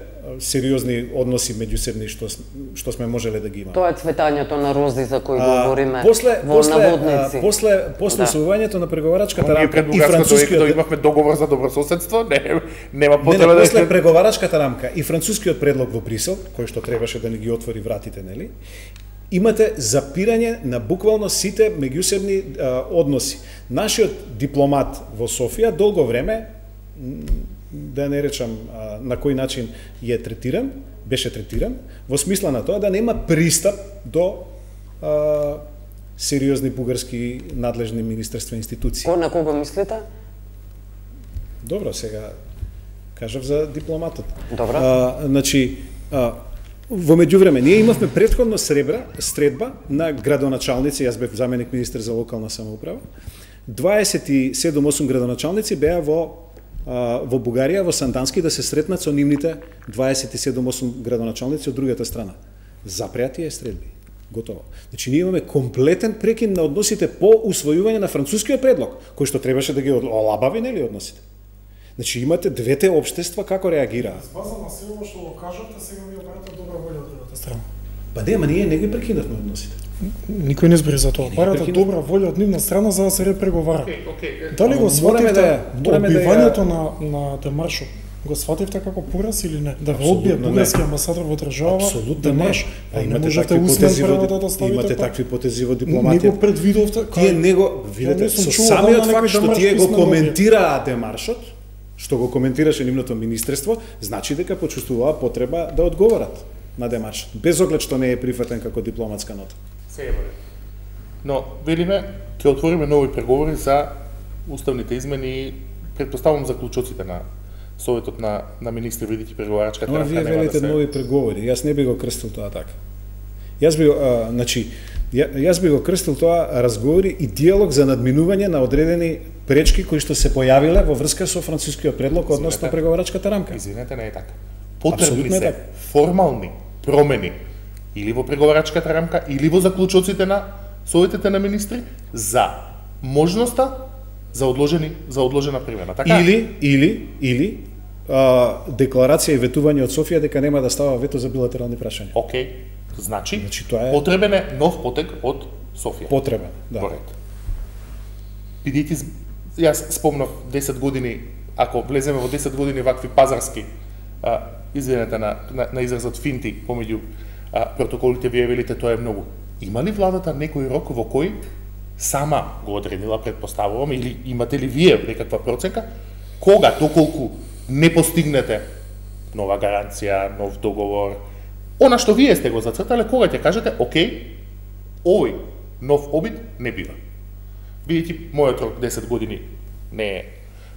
сериозни односи меѓусебни што што сме можеле да ги имаме. Тоа е цветањето на рози за кој говориме после, во после, наводници. А, после после да. усвојувањето на преговарачката рамка и францускиот имавме договор за добрососедство, не нема потреба да после преговарачката рамка и францускиот предлог во Брисел, кој што требаше да ни ги отвори вратите, нели? Имате запирање на буквално сите меѓусебни а, односи. Нашиот дипломат во Софија долго време, да не речам а, на кој начин е третиран, беше третиран, во смисла на тоа да нема пристап до а, сериозни бугарски надлежни министерства и институции. Ко на кого мислите? Добро, сега кажав за дипломатот. Добро. А, значи, а, во меѓувреме, ние имавме претходно сребра, средба на градоначалници, јас бев заменик министер за локална самоуправа, дваесет и седум осум градоначалници беа во во Бугарија, во Сандански, да се сретнат со нивните дваесет и седум осум градоначалници од другата страна. Запреати е средби. Готово. Значи, ние имаме комплетен прекин на односите по усвојување на францускиот предлог, кој што требаше да ги олабави, нели, односите. Значи, имате двете општества како реагираат. База на се ова што го кажавте, сега ми барате добра волја од другата страна. Па не, ама ние не ги прекинавме односите. Никој не збори за тоа. Барате добра волја од нивна страна за да се репреговара. Okay, okay. Дали го свативте да, одбивањето да на на демаршот? Го свативте како пораз или не? Да го одбие бугарски амбасадор во држава демарш? А имате такви потези во да имате такви потези во дипломатија. Не го предвидовте. Тие него видите со самиот факт што тие го коментираа демаршот, што го коментираше нивното министерство, значи дека почувствуваа потреба да одговорат на демаршот, без оглед што не е прифатен како дипломатска нота. Се Но, велиме, ќе отвориме нови преговори за уставните измени и предпоставувам заклучоците на Советот на, на министри, видите преговарачката рамка нема да се... Вие велите нови преговори, јас не би го крстил тоа така. Јас би, а, значи, ја, јас би го крстил тоа разговори и диалог за надминување на одредени пречки кои што се појавиле во врска со францускиот предлог односно преговарачката рамка. Извинете, не е така. Потребни се така. Формални промени или во преговарачката рамка, или во заклучоците на советите на министри за можноста за одложени за одложена примена. Така? Или или или а, декларација и ветување од Софија дека нема да става вето за билатерални прашања. Океј. Значи, значи тоа е потребен е нов потек од Софија. Потребен, да. Поред. Бидејќи јас спомнав десет години, ако влеземе во десет години вакви пазарски а, извинете на, на, на изразот финти помеѓу а, протоколите, вие велите тоа е многу. Има ли владата некој рок во кој сама го одредила, предпоставувам, или имате ли вие некаква проценка, кога, доколку не постигнете нова гаранција, нов договор, она што вие сте го зацртале, кога ќе кажете, окей, овој нов обид не бива. Бидејќи мојот рок десет години не е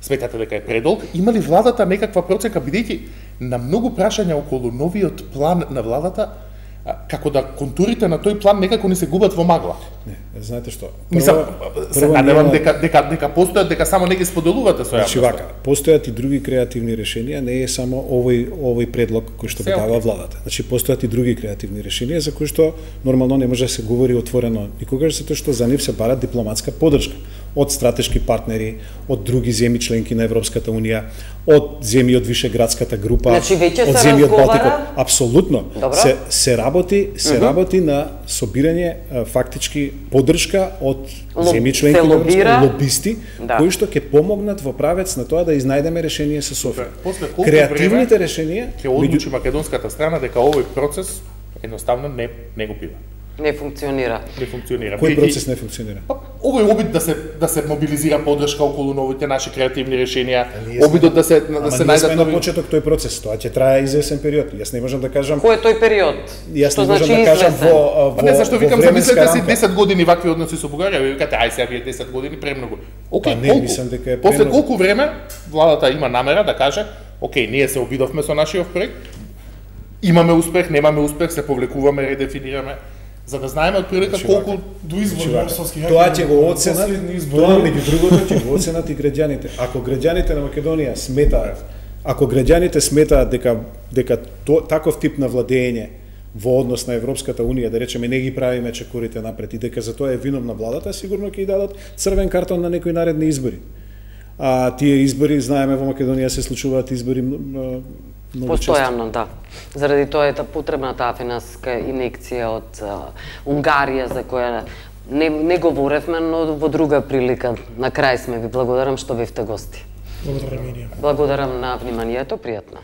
Сметате дека е предолг? Има ли владата некаква процека, бидејќи на многу прашања околу новиот план на владата, како да контурите на тој план некако не се губат во магла? Не, знаете што? Мислам, се надевам дека дека дека постојат, дека само не ги споделувате со јавноста. Значи вака, постојат и други креативни решенија, не е само овој овој предлог кој што го дава владата. Значи постојат и други креативни решенија за кои што нормално не може да се говори отворено никогаш, затоа што за нив се бара дипломатска поддршка од стратешки партнери, од други земји членки на Европската унија, од земји од Вишеградската група, значи, од земји од Балтикот. Апсолутно. Добро. Се се работи, се uh-huh. работи на собирање фактички поддршка од земји членки на Европската, лобисти, да. кои што ќе помогнат во правец на тоа да изнајдеме решение со Софија. Креативните решенија ќе одлучи македонската страна дека овој процес едноставно не не го бива. Не функционира. Не функционира. Кој процес не функционира? Овој обид да се да се мобилизира поддршка околу новите наши креативни решенија, обидот да се да се најдат нови... на почеток тој процес, тоа ќе трае извесен период. Јас не можам да кажам кој е тој период. Јас не можам да кажам во во не зашто викам замислете си десет години вакви односи со Бугарија, ви викате ај сега вие десет години премногу. Океј, не мислам дека е после колку време владата има намера да каже, океј, ние се обидовме со нашиот проект, имаме успех, немаме успех, се повлекуваме, редефинираме, за да знаеме отприлика колку до избори московски тоа ќе го оценат, тоа меѓу другото ќе го оценат и граѓаните. Ако граѓаните на Македонија сметаат, ако граѓаните сметаат дека дека то, таков тип на владење во однос на Европската унија, да речеме, не ги правиме чекорите напред и дека за тоа е виновна владата, сигурно ќе ја дадат црвен картон на некои наредни избори. А тие избори, знаеме, во Македонија се случуваат избори постојано, да. Заради тоа е потребна таа финансиска инекција од Унгарија за која не не говоревме, но во друга прилика. На крај сме ви благодарам што бевте гости. Благодарам и ние. Благодарам на вниманието, пријатно.